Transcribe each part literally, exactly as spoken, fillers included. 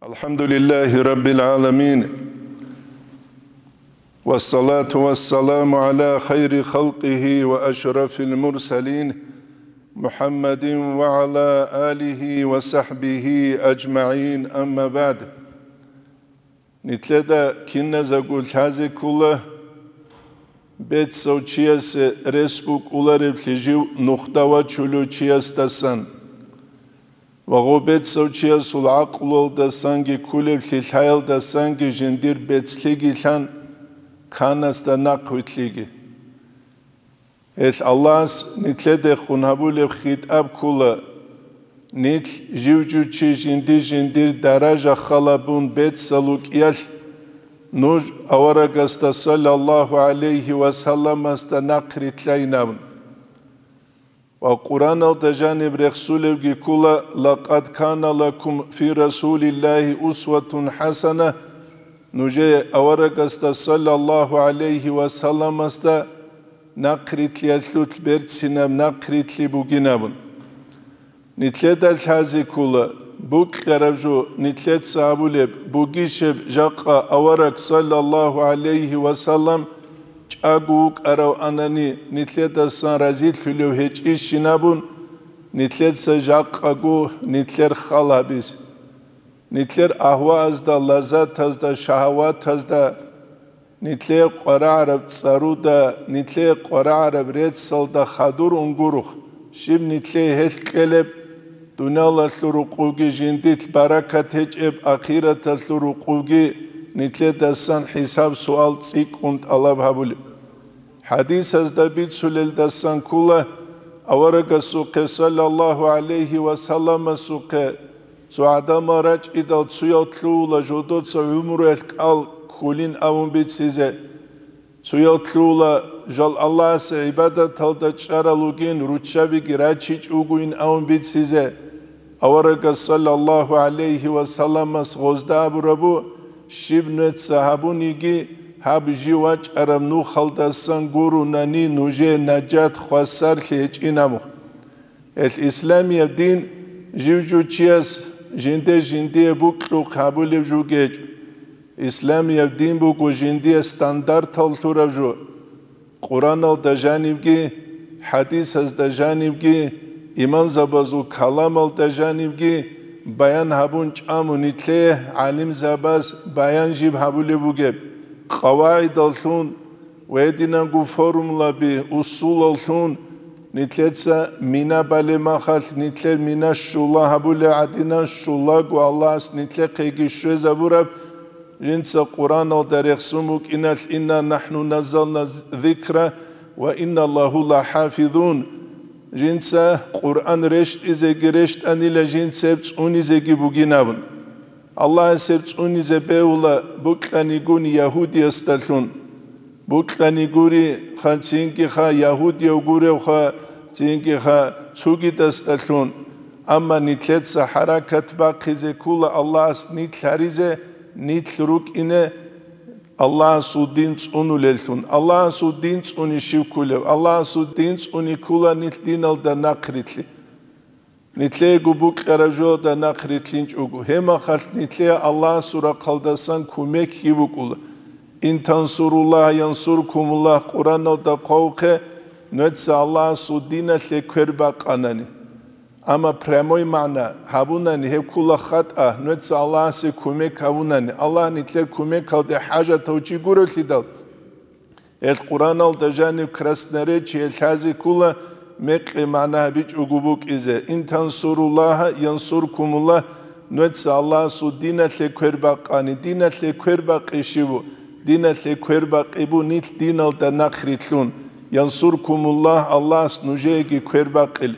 الحمد لله رب العالمين، والصلاة والسلام على خير خلقه وأشرف المرسلين، محمد وعلى آله وصحبه أجمعين، أما بعد. Нилъеда киназего лъазе ккола, бецав чиясе рес букӀулареблъи жив нухда вачулев чиясдасан ва гъо бецав чиясул гӀакълуялдасанги кколеблъи лъаялдасанги жиндир бецлъиги лъан, канасда нахъвилълъиги. Гьелъ Аллагьас нилъедехун гьабулеб хитӀаб ккола, нилъ жив-жив чи жинди-жиндир даража халабун бецал рукӀиялъ, нуж аварагасда саллаллагьу гӀалайгьи ва салламасда нахърилълъайин абун. Ва Къуръаналда жаниб рехсулебги ккола: «Лакъад кана лакум фи Расулиллагьи усватун хӀасана», нужее аварагасда саллаллагьу гӀалайгьи ва салламасда нахърилълъиялъулъ берцинаб нахърилълъи бугин абун. Нилъеда лъазе ккола, букьараб жо нилъеца гьабулеб бугищеб жакъа авараг саллаллагьу гӀалайгьи ва саллам чӀаго вукӀарав анани нилъедасан разилъулев гьечӀищин абун, нилъеца жакъаго нилъер хал гьабизе. Нилъер агьваазда, лаззатазда, шагьаватазда, нилъее къварагӀараб цӀаруда, нилъее къварагӀараб реццалда хадур унгурухъ, щиб нилъее гьелъ кьелеб, дуниялалъул рукъуги жиндилъ баракат гьечӀеб, ахираталъул рукъуги нилъедасан хӀисаб-суал цӀикӀкӀун тӀалаб гьабулеб. ХӀадисазда бицулелдасан ккола, аварагасухъе саллаллагьу гӀалайгьи ва салламасухъе цо гӀадамал рачӀидал цуял лъугьула жодоца гӀумруялъ кӀал ккулин абун бицизе. Цуял лъугьула жал Аллагьасе гӀибадаталда чӀарал ругин руччабиги рачичӀ вугоин абун бицизе. Аварагас саллаллагьу гӀалайгьи ва салламас гъозда абурабу, щиб нуеца гьабуниги, гьаб жив вачӀараб нухалдасан гурунани нужее нажат хвасарлъи гьечӀин абу. Гьелъ исламияб дин жив-жив чияс жинде-жиндие букьухъ гьабулеб жо гьечӀо. Исламияб дин буго жиндие стандартал лъураб жо. Къураналда жанибги, хӀадисазда жанибги, имамзабазул каламалда жанибги баян гьабун чӀаму нилъее гӀалимзабаз баян жиб гьабулеб бугеб, къавагӀидаллъун ва гьединанго формулаби, усулаллъун нилъеца мина балеб махалъ нилъер мина щула гьабулеб гӀадинан щулаго Аллагьас нилъехъеги щвезабураб, жинца Къураналда рехсун букӀиналъ: «Инна нахну наззална зикра ва инна лаху лахӀафизун». Жинца Къуръан рещтӀизеги рещтӀанила, жинца гьеб цӀунизеги бугин абун. Аллагьас гьеб цӀунизе бегьула букьанигун ягьудиясдалъун. Букьани гури, ха, цинги ха, ягьудияв гурев ха, цинги ха, цугидасдалъун. Амма нилъеца хӀаракат бахъизе ккола Аллагьас нилъ гьаризе, нилъ рукӀине Аллагьасул дин цӀунулеллъун. Аллагьасул дин цӀуни щив ккулев? Аллагьасул дин цӀуни ккула нилъ диналда нахърилълъи. Нилъеего букьараб жоялда нахърилълъинчӀого, гьеб махалъ нилъее Аллагьасул рахъалдасан кумек гьаб букӀула. «Ин тансуруллагьа янсуркумуллагь» Къураналда хъвавухъе, нуеца Аллагьасул диналъе квер бакъанани. Амма прямой магӀна гьабунани, гьеб ккула хатӀа, нуеца Аллагьасе кумек гьабунани, Аллагь нилъер кумекалде хӀажатав чи гурелъидал. Гьел Къураналда жаниб красноречие лъазе ккула, мекъи магӀна гьабичӀого букӀизе: «Ин тансуруллагьа янсуркумуллагь», нуеца Аллагьасул диналъе квер бакъани, диналъе квер бакъи щиб бу? Диналъе квер бакъи бу нилъ диналда нахърилълъун. «Янсуркумуллагь», Аллагьас нужееги квер бакъил.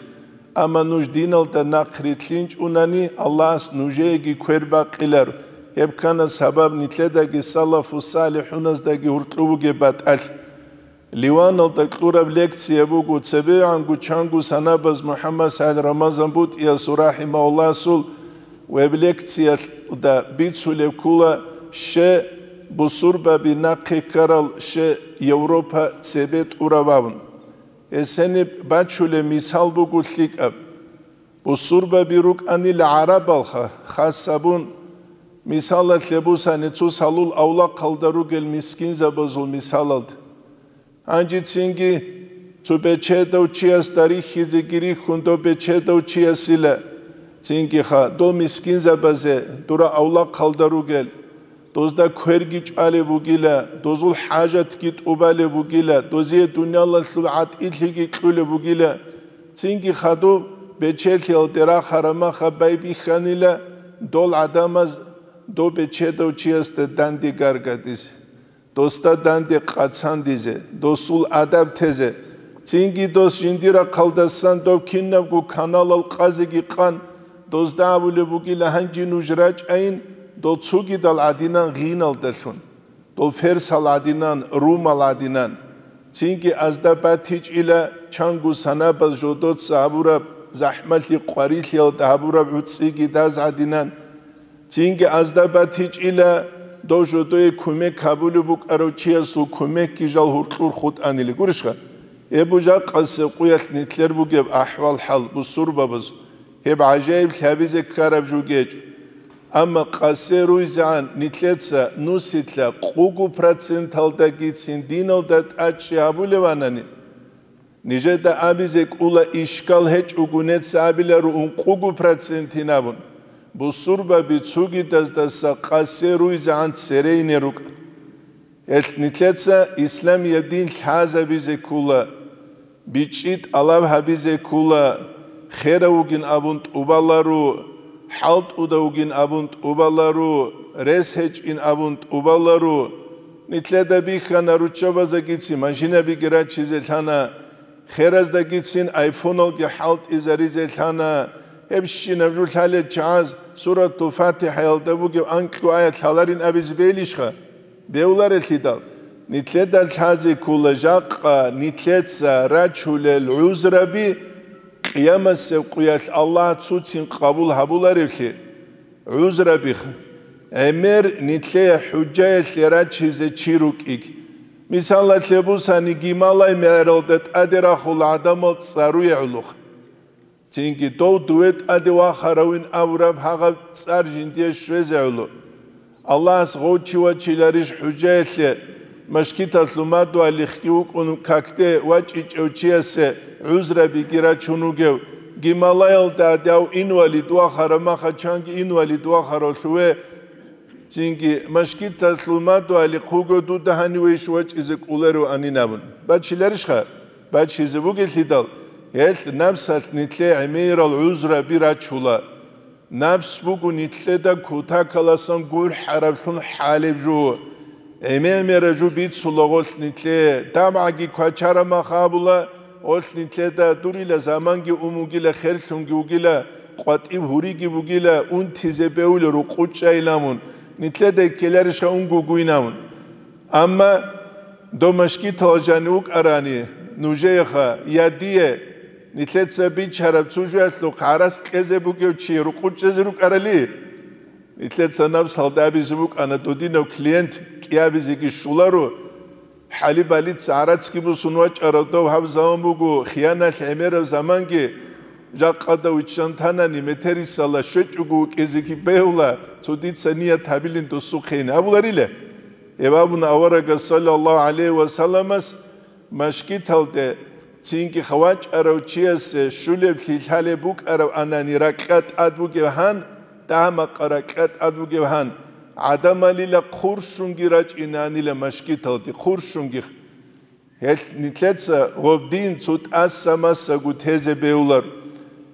Амма нуж диналда нахърилълъинчӀунани, Аллагьас нужееги квер бакъилар. Гьеб ккана сабаб нилъедаги салафу салихӀуназдаги гьуркьу бугеб батӀалъ. Ливаналда кьураб лекция буго, цебегӀанго чанго санабаз МухӀаммад СагӀид Рамазан БутӀиясул рахӀимагьуллагьасул веб-лекциялда бицулеб ккула, ще бусурбаби нахъе ккарал, ще Европа цебе тӀураб абун. Гьес гьениб бачулеб мисал буго лъикӀаб. Бусурбаби рукӀанила гӀарабалха, хас абун, Мисалалъе бусани, цо салул авлахъалда ругел мискинзабазул мисалалда. Гьанже цинги цо бечедав чиясда рихьизеги рихьун, дов бечедав чиясила, цинги ха, дов мискинзабазе дура авлахъалда ругел, дозда кверги чӀвалеб бугила, дозул хӀажатги тӀубалеб бугила, дозие дуниялалъул гӀатӀилъиги кьулеб бугила, цинги хадуб бечелъиялде рахъараб маха байбихьанила дол гӀадамаз дов бечедав чиясда данде гаргадизе, досда данде къацандизе, досул адаб тезе, цинги дос жиндир рахъалдасан дов кинабго каналал къазеги къан, дозда абулеб бугила: «Гьанже нуж рачӀайин дол цогидал гӀадинан гъиналдалъун, дол ферсал гӀадинан, румал гӀадинан». Цинги азда батичӀила чанго санабаз жодоца гьабураб, захӀмалъи къварилъиялда гьабураб гӀуцӀиги даз гӀадинан. Цинги азда батичӀила дов жодое кумек гьабулеб букӀарав чиясул кумекги жал гьуркьур хутӀанила. Гурищха? Эбу жакъасеб къуялъ нилъер бугеб ахӀвал-хӀал бусурбабаз. Гьеб гӀажаиблъи гьабизе ккараб жо гьечӀо. Амма къасе руйзегӀан нилъеца нусилъа къугу проценталдагицин диналда тӀадчӀи гьабулеванани, нижеда абизе кӀула, ишкал гьечӀого, нецаабиларо ункъугу процентин абун, бусурбаби цугидаздаса къасе руйзегӀан церейне рукӀа. Гьелъ нилъеца исламияб дин лъазабизе ккула, бичӀчӀи тӀалаб гьабизе ккула, херав вугин абун тӀубаларо, хӀалтӀудав вугин абун тӀубаларо, рес гьечӀин абун тӀубаларо. Нилъеда бихьана руччабазагицин машинабиги раччизе лъана, хераздагицин айфоналги хӀалтӀизаризе лъана. Гьебщинаб жо лъалел чагӀаз Суратул ФатихӀаялда бугеб анкьго аят лъаларин абизе бегьилищха? Бегьуларелъидал, нилъеда лъазе ккула жакъа нилъеца рачулел гӀузраби Къиямасеб къуялъ Аллагь цоцин къабул гьабуларевлъи. ГӀузрабиха, гӀемер нилъее хӀужаялъе рачизе чи рукӀиги. Мисалалъе бусани, гималай мегӀералда тӀаде рахула гӀадамал цӀаруе гӀолохъ. Цинги дов дуве тӀаде вахаравин абураб гьагъаб цӀар жиндие щвезе гӀоло. Аллагьас гъов чи вачиларищ хӀужаялъе, машгиталъул мадугьалихъги вукӀун какде вачӀичӀев чиясе гӀузрабиги рачун вугев, гималаялда гьадав инвалид вахараб маха чанги инвалид вахаравлъуве, цинги машгиталъул мадугьалихъ вуго дуда гьанивейищ вачӀизе кӀолариванин абун. Бачиларищха? Бачизе бугелъидал, гьелъ напсалъ нилъее гӀемерал гӀузраби рачула. Напс буго нилъеда кутакаласан гурхӀараблъун хӀалеб жо. ГӀемер-мераб жо бицула гъолъ нилъее, дабгӀаги квачараб мах абула, гъолъ нилъеда дурила заманги ун вугила, херлъунги вугила, къватӀиб гьуриги бугила, унтизе бегьула рукъучӀайилан мун, нилъеда ккеларищха унгогуйин абун. Амма дов машгитал жанив вукӀарани, нужееха я дие, нилъеца бичараб цо жоялъухъ гӀарац кьезе бугев чи рукъучӀезе рукӀарали? Нилъеца напсалда абизе букӀана, додинав клиент кӀиабизеги щоларо, хӀалиб балица гӀарацги бусун вачӀарав дов гьаб заман буго, хияналъ гӀемераб заманги, жакъада виччан танани, метерисала щвечӀого вукӀизеги бегьула, цо дица ният гьабилин досухъейин абуларила. Гьеб абуна аварагас, саллаллагьу гӀалайгьи ва салламас, машгиталде цинги хавачӀарав чиясе щулеблъи лъалеб букӀараб анани ракьа тӀад бугев гьан, дагьа-макъа ракьа тӀад бугев гьан, гӀадамалила хъурщунги рачӀинанила машгиталде, хъурщунги. Гьелъ нилъеца гъоб дин цо тӀаса-масаго тезе бегьулар.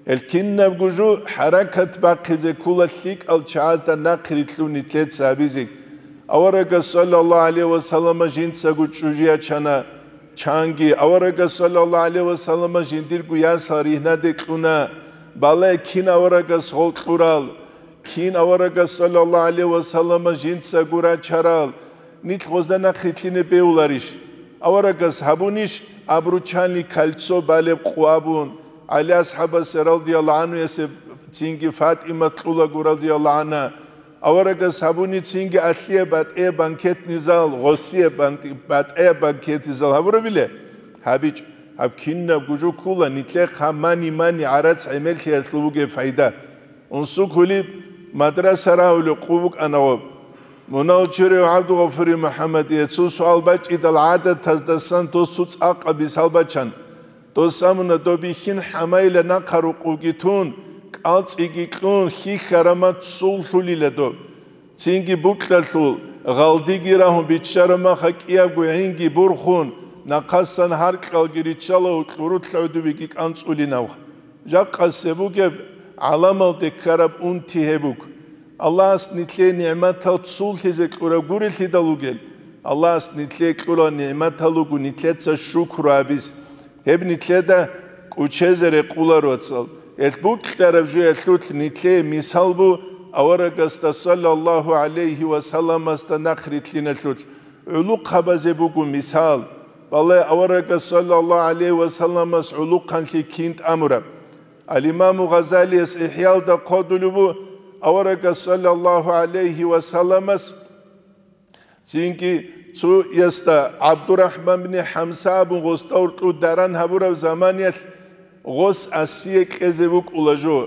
Гьел кинабго жо хӀаракат бахъизе ккола лъикӀал чагӀазда нахърилълъун нилъеца гьабизе. Аварагас, саллаллагьу гӀалайгьи ва саллама, жинцаго чӀужу ячана, чанги. Аварагас, саллаллагьу гӀалайгьи ва саллама, жиндирго ясал ригьнаде кьуна, балай кин аварагас гъол кьурал, кин аварагас, саллаллагьу гӀалайгьи ва саллама, жинцаго рачарал, нилъ гъозда нахърилълъине бегьуларищ? Аварагас гьабунищ обручальный кольцо балеб къо абун, ГӀали асхӀабасе, радияллагьу гӀанхуясе, цинги ФатӀимат кьулаго, радияллагьу гӀанхӀа? Аварагас гьабуни цинги алъие батӀие банкетный зал, гъосие бан-, батӀие банкетный зал гьабурабиле? ГьабичӀ. Гьаб кинабго жо ккула нилъехъа мани-мани гӀарац гӀемерлъиялъул бугеб пайда. Унсукулиб, Мадраса рагьулев къо букӀана гъоб. Мунал чурев ГӀабдулгъафури МухӀаммадие цо суал бачӀидал гӀадатаздасан дос цо цӀакъаб мисал бачан. Дос амуна, доб бихьин хӀамайила нахъа рукъуги тун, кӀалцӀиги кьун, хьихьараб мах цул лъулила доб. Цинги букьалъул, гъалдиги рагьун биччараб маха кӀиябго гӀинги бурхун, нахъасан гьаркьалги риччала, кьурулъ гӀодобиги кӀанцӀулинавха. Жакъасе бугеб гӀаламалде ккараб унти гьеб буго. Аллагьас нилъее нигӀматал цул лъизе кьураб гурелъидал ругел, Аллагьас нилъее кьурал нигӀматал руго нилъеца шукру гьабизе. Гьеб нилъеда кӀучезе рекъоларо, вацал. Гьелъ букьараб жоялъулъ нилъее мисал бу аварагасда саллаллагьу гӀалайгьи ва салламасда нахърилълъиналъулъ. ГӀулухъабазе буго мисал. Балай аварагас саллаллагьу гӀалайгьи ва салламас гӀулухъанлъи кин тӀамураб. Ал-Имаму Гъазалияс ИхӀялда хъодулеб бу аварагас саллаллагьу гӀалайгьи ва салламас цинги цо ясда ГӀабдурахӀман бин ХӀамса абун гъосда уркьуд даран гьабураб заманиялъ гъос асие кьезе букӀула жо.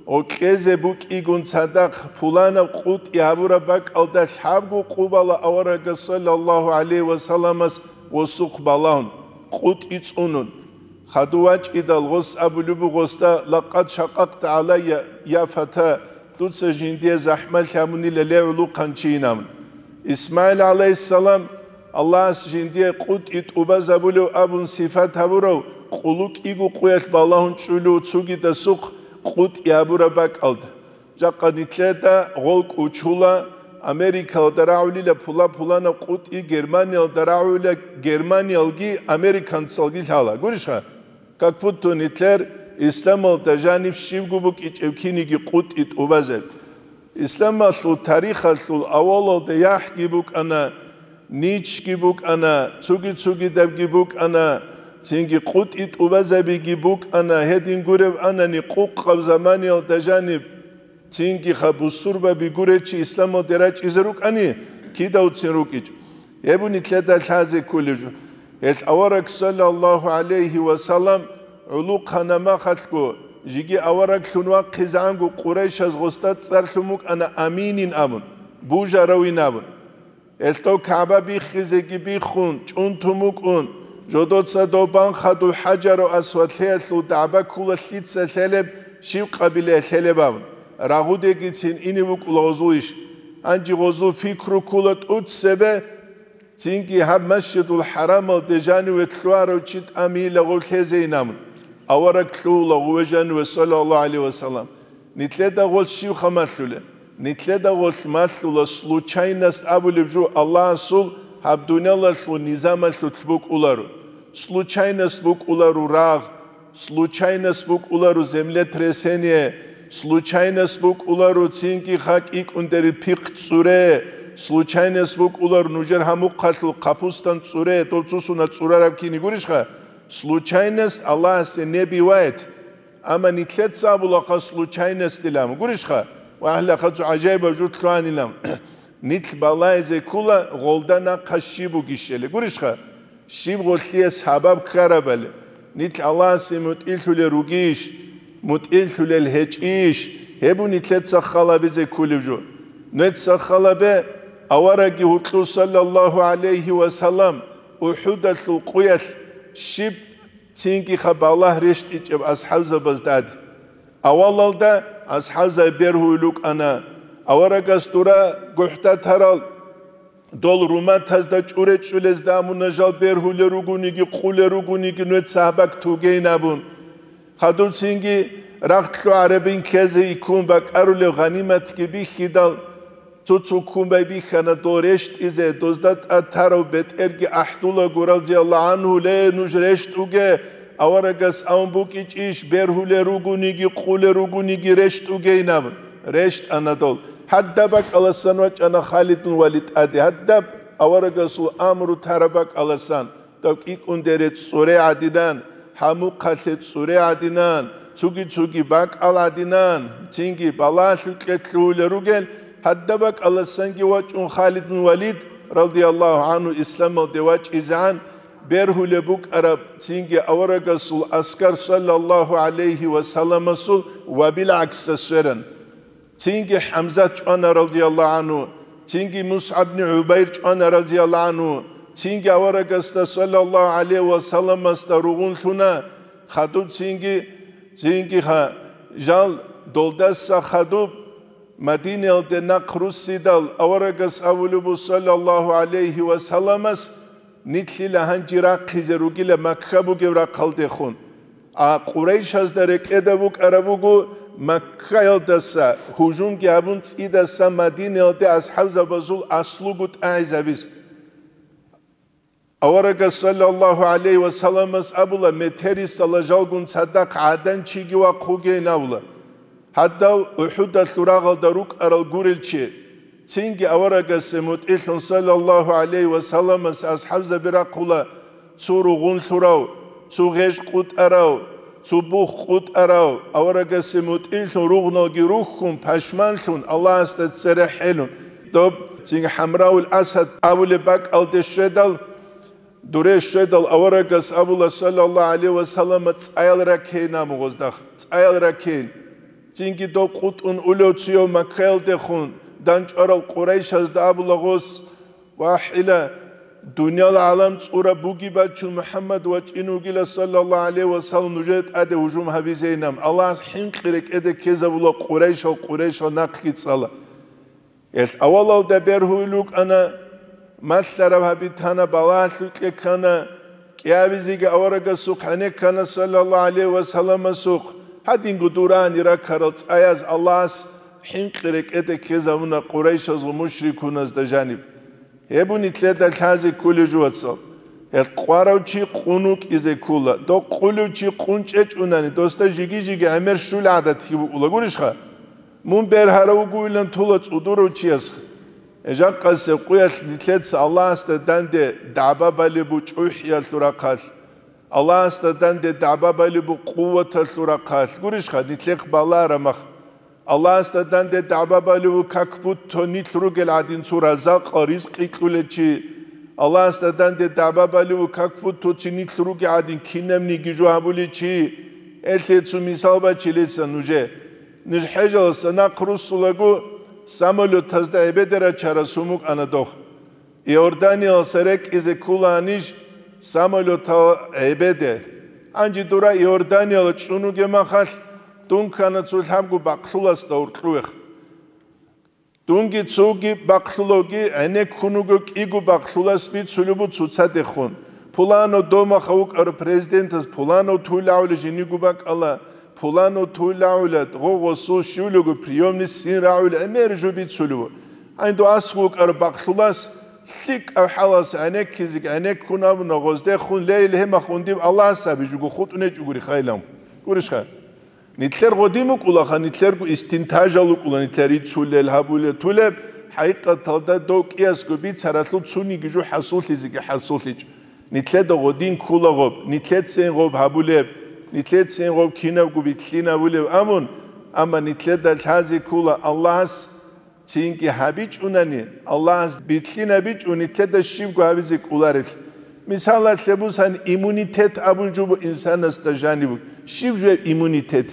Гъо кьезе букӀигун цадахъ пуланаб къутӀи гьабураб бакӀалда лъабго къо бала аварагас саллаллагьу гӀалайгьи ва салламас гъосухъ балагьун, къутӀи цӀунун. Хадув вачӀидал гъос абулеб буго гъосда: «Лакъад шакъакъта гӀалайя, я фата, дуца жиндие захӀмалъи гьабунила, ле гӀулухъанчийин», – абун. Исмагьил гӀалайгьиссалам, Аллагьас жиндие къутӀи тӀубазабулев абун сифат гьабурав, къулу кӀиго къоялъ балагьун чӀулев цогидасухъ къутӀи гьабураб бакӀалда. Жакъа нилъеда гъол кӀучула, Америкалда рагӀулила пула-пуланаб къутӀи, Германиялда рагӀулила германиялги американцалги лъала. Гурищха? Как будто нилъер исламалда жаниб щибго букӀичӀеб киниги къутӀи тӀубазаб. Исламалъул тарихалъул авалалда яхӀги букӀана, ничги букӀана, цуги-цугидабги букӀана, цинги къутӀи тӀубазабиги букӀана, гьедин гуреб анани къукъаб заманиялда жаниб. Цинги ха бусурбаби гуречи исламалде рачӀизе рукӀани, кидавцин рукӀичӀо. Гьеб нилъеда лъазе кколеб жо. Гьелъ авараг, саллаллагьу гӀалайгьи ва саллам, гӀулухъана махалъго, жеги авараглъун вахъизегӀанго, Къурайшаз гъосда цӀарлъун букӀана аминин абун, бужаравин абун. Гьелъ дов КагӀба биххизеги биххун, чӀунтун букӀун, жодоца дов бан хадуб ХӀажару Асвадлъиялъул дагӀба ккула лъица лъелеб, щиб къабилая лъелеб абун, рагъудегицин ине букӀула гъозул иш. Гьанже гъозул пикру ккула тӀуцебе, цинги гьаб Масжидул ХӀарамалде жаниве лъугьарав чи тӀамийила гъов лъезейин абун, авараг лъугьула гъуве жаниве, саллаллагьу гӀалайгьи ва саллам. Нилъеда гъол щибха малъулеб? Нилъеда гъол малъула случайность абулеб жо Аллагьасул гьаб дуниялалъул низамалъулъ букӀуларо. Случайность букӀуларо рагъ, случайность букӀуларо землетрясение, случайность букӀуларо цинги ха кӀикӀундери пихъ цӀуре, случайность букӀуларо нужер гьамухъалъул капустан цӀуре, дов цусуна цӀурараб кини гурищха? Случайность Аллагьасе не бывает. Амма нилъеца абулаха случайностилан. Гурищха? Ва гьалаха цо гӀажаибаб жо лъугьанилан. Нилъ балайзе ккула гъолда нахъа щиб бугищали. Гурищха? Щиб гъолъие сабаб ккарабали. Нилъ Аллагьасе мутӀигӀлъулел ругищ? МутӀигӀлъулел гьечӀищ? Гьеб бу нилъеца халабизе кколеб жо. Нуеца халабе, авараги гьуркьу, саллаллагьу гӀалайгьи ва саллам, УхӀудалъул къуялъ щиб Цинги-ха балагь рещтӀичӀеб асхӀабзабазда тӀад. Авалалда асхӀабзаби бергьуй рукӀана, аварагас дура гухӀда тарал, дол руматазда чӀуре-чӀулезда амуна жал бергьулел ругониги, къулел ругониги, нуеца гьабак тугейин абун. Хадуб цинги рахъ лъугӀарабин ккезе иккун бакӀарулев гъаниматги бихьидал, Цо-цо ккун байбихьана дол рещтӀизе, дозда тӀад тарав бетӀерги ахӀдулаго, разияллагьу гӀангьу: «Ле, нуж рещтӀуге, аварагас абун букӀичӀищ, бергьулел ругониги, къулел ругониги рещтӀугейин», – абун. РещтӀана дол. Гьадаб бакӀаласан вачӀана Халидун Валид тӀаде, гьадаб аварагасул амру тараб бакӀаласан. Дов кӀикӀундере цӀуре гӀадинан, гьамухъалъе цӀуре гӀадинан, цуги-цуги бакӀал гӀадинан, цинги балагьлъукье лъугьулел ругел, гьадаб бакӀаласанги вачӀун Халидун Валид, радияллагьу гӀангьу, исламалде вачӀизегӀан, бергьулеб букӀараб цинги аварагасул аскар, саллаллагьу гӀалайгьи ва салламасул, ва билгӀаксас сверан. Цинги ХӀамзат чӀвана, радияллагьу гӀангьу, цинги МусгӀаб ибн ГӀубайр чӀвана, радияллагьу гӀангьу, цинги аварагасда, саллаллагьу гӀалайгьи ва салламасда, ругъунлъуна хадуб, цинги, цинги ха-, жал долдаса хадуб Мадинаялде нахъ руссидал, аварагас абулеб буго, саллаллагьу гӀалайгьи ва салламас, нилъила гьанже рахъизе ругила Макка бугеб рахъалдехун. А Къурайшазда рекӀеда букӀараб буго Маккаялдаса гьужумги гьабун цӀидасан Мадинаялде асхӀабзабазул аслугу тӀагӀизабизе. Аварагас, саллаллагьу гӀалайгьи ва салламас, абула, метерисала жалгун цадахъ гӀадан чиги вахъугейин абула. Гьадав УхӀудалъул рагъалда рукӀарал гурел чи. Цинги аварагасе мутӀигӀлъун, саллаллагьу гӀалайгьи ва салламас, асхӀабзаби рахъула цо ругъунлъурав, цо гъеж къутӀарав, цо бух къутӀарав, аварагасе мутӀигӀлъун ругъналги рухьун, пашманлъун, Аллагьасда цере хӀелун. Доб цинги ХӀамраул Асад абулеб бакӀалде щведал, дуре щведал, аварагас абула, саллаллагьу гӀалайгьи ва саллама, цӀаял ракейин абун гъоздахъ, цӀаял ракейин. Цинги дов къутӀун улев цуяв Маккаялдехун дандчӀварал Къурайшазда абула гъос: «ВахӀила, дуниял гӀалам цӀураб буги бачун МухӀаммад вачӀин вугила, саллаллагьу гӀалайгьи ва саллам, нужее тӀаде гьужум гьабизейинан. Аллагьас хӀинкъи рекӀеде ккезабула Къурайшал, Къурайшал нахъги цӀала». Гьелъ авалалда бергьуйил рукӀана, малъараб гьаби тана, балагьалъукье ккана, кӀиабизеги аварагасухъ гӀенекке ккана, саллаллагьу гӀалайгьи ва салламасухъ, гьадинго дурани ракарал цӀаяз Аллагьас хӀинкъи рекӀеде ккезабуна къурайшазул мушрикуназда жаниб. Гьеб буго нилъеда лъазе кколеб жо, вацал. Гьеб къварав чи къун вукӀизе ккола, дов къулев чи къун чӀечӀунани, досда жиги-жиги гӀемер щул гӀадатги букӀула, гурищха? Мун бергьарав вугевилан тула цӀудурав чияс. Жакъасеб къуялъ нилъеца Аллагьасда данде дагӀба балеб бу чӀухӀиялъул рахъалъ, Аллагьасда данде дагӀба балеб бу къуваталъул рахъалъ, гурищха, нилъехъ балараб мах. Аллагьасда данде дагӀба балеб бу как будто нилъ ругел гӀадин цо разакъал ризкъи кьулев чи. Аллагьасда данде дагӀба балеб бу как будто цо нилъ ругел гӀадин кинабниги жо гьабулев чи. Гьелъие цо мисал бачилеца нужее. Ниж хӀежаласа нахъ руссулаго, самолетазда гӀебеде рачарас гьумукӀана дох. Иорданияласа рекӀизе ккола ниж самолетал гӀебеде. Гьанже дура Иорданияла чӀун вугеб махалъ, дун ккана цо лъабго бакълъуласда гьоркьовехъ. Дунги цоги бакълъулавги гӀенеккун вуго, кӀиго бакълъулас бицулеб буго цоцадехун. Пуланав домаха вукӀарав президентас пуланав туйлагӀула жиниго бакӀала, пуланав туйлагӀула, гъо-гъосул щивлего приёмный ссин рагӀула гӀемер жо бицулеб буго. Гьанду аскӀов вукӀарав бакълъулас лъикӀав хӀалас гӀенеккизеги гӀенеккун абуна гъоздехун: «Ле, ил гьемахун диб Аллагьас абижуго хутӀун гьечӀогури хайлан». Гурищха? Нилъер гъодин букӀулаха, нилъерго истинтажал рукӀула, нилъер рицулел, гьабулел, тулеб, хӀакъикъаталда дов кӀиясго бицаралъул цониги жо хӀасуллъизеги хӀасуллъичӀо. Нилъеда гъодин ккола гъоб, нилъецин гъоб гьабулеб, нилъецин гъоб кинабго битлъинабулеб абун, амма нилъеда лъазе ккола Аллагьас Цинги гьабичӀунани, Аллагьас битлъинабичӀо нилъеда щибго гьабизе кӀоларелъ. Мисалалъе бусан, иммунитет абун жо буго инсанасда жаниб. Щиб жо гьеб иммунитет?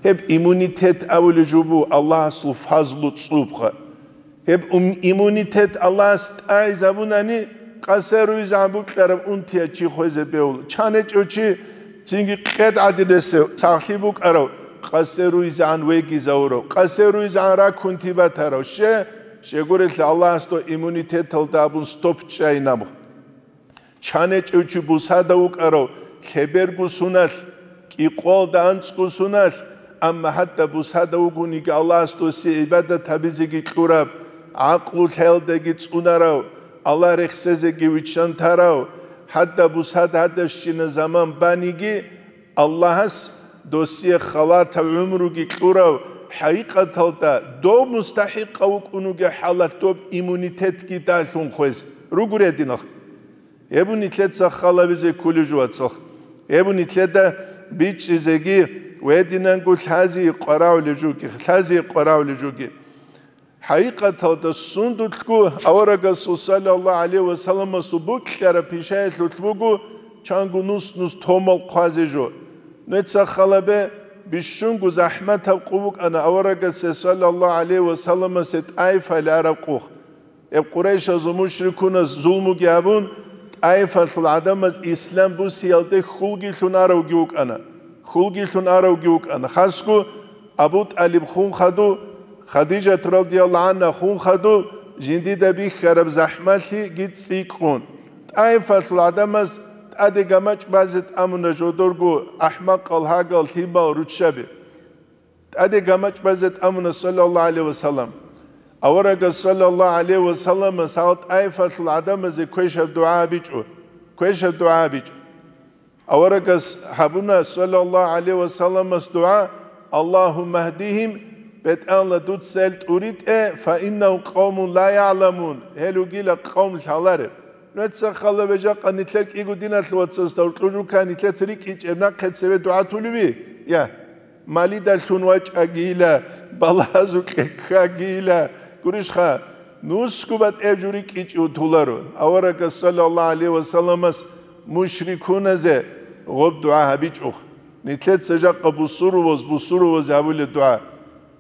Гьеб иммунитет абулеб жо буго Аллагьасул фазлу цӀубха. Гьеб ум-, иммунитет Аллагьас тӀайзабунани, къасе руйзегӀан букьараб унтияб чи хвезе бегьула. Чан гьечӀев чи, цинги къед гӀадинасев сахлъи букӀарав, къасе руйзегӀан вегизавурав, къасе руйзегӀан ракунти батарав. Ще, щегурелъа Аллагьас дов иммунитеталда абун стоп чӀайин абу. Чан гьечӀев чи бусада вукӀарав, лъеберго суналъ, кӀикъоялда анцӀго суналъ, амма гьадаб бусада вугониги Аллагьас досие гӀибадат гьабизеги кьураб, гӀакълу лъаялдаги цӀунарав, Аллагь рехсезеги виччан тарав, гьадаб бусада гьадабщина заман баниги, Аллагьас досие халатаб гӀумруги кьурав, хӀакъикъаталда дов мустахӀикъав вукӀун вугеб хӀалалъ доб иммунитетги далъун хвез ругуридинал. Гьеб нилъеца халабизе кколеб жо, вацал. Гьеб нилъеда бичӀчӀизеги ва гьединанго лъази къварагӀулеб жоги, лъази къварагӀулеб жоги. ХӀакъикъаталда сундулъго аварагасул саллаллагьу гӀалайгьи ва салламасул букьараб пишаялъулъ буго чанго нус-нус томал хъвазе жо. Нуца халабе, Бищунго захӀматаб къо букӀана аварагасе саллаллагьу гӀалайгьи ва салламасе ТӀаифалде араб къо. Гьеб Къурайшазул мушрикуназ зулмуги гьабун, ТӀаифалъул гӀадамаз ислам бусиялде хьулги лъун аравги вукӀана. Хьулги лъун аравги вукӀана. Хасго Абу ТӀалиб хун хадув, Хадижат радияллагьу гӀангьа хун хадув, жиндида бихьараб захӀмалъиги цӀикӀкӀун. ТӀаифалъул гӀадамаз тӀаде гамачӀ базе тӀамуна жодорго ахӀмакъал, гьагал, лъимал, руччаби. ТӀаде гамачӀ базе тӀамуна, саллаллагьу гӀалайгьи ва саллам. Аварагас, саллаллагьу гӀалайгьи ва салламас, гьал ТӀаифалъул гӀадамазе квешаб дугӀа гьабичӀо. Квешаб дугӀа гьабичӀо. Аварагас гьабуна, саллаллагьу гӀалайгьи ва салламас, дугӀа: «Аллагьумма гьдигьим», БетӀалла, дуца гьел тӀуритӀе, «фаиннагьум къавмун ла ягӀламун», гьел ругила къавм лъалареб. Нуца хала бежакъа нилъер кӀиго диналъул вацасда уркьужука нилъеца рикӀкӀичӀеб нахъе цеве дугӀа тулеви? Я, малидалъун вачӀагийила, балагьазукье ккагийила, гурищха, нусго батӀеб жо рикӀкӀичӀев туларо. Аварагас, саллаллагьу гӀалайгьи ва салламас, мушрикуназе гъоб дугӀа гьабичӀо. Нилъеца жакъа бусуруваз, бусуруваз гьабулеб дугӀа.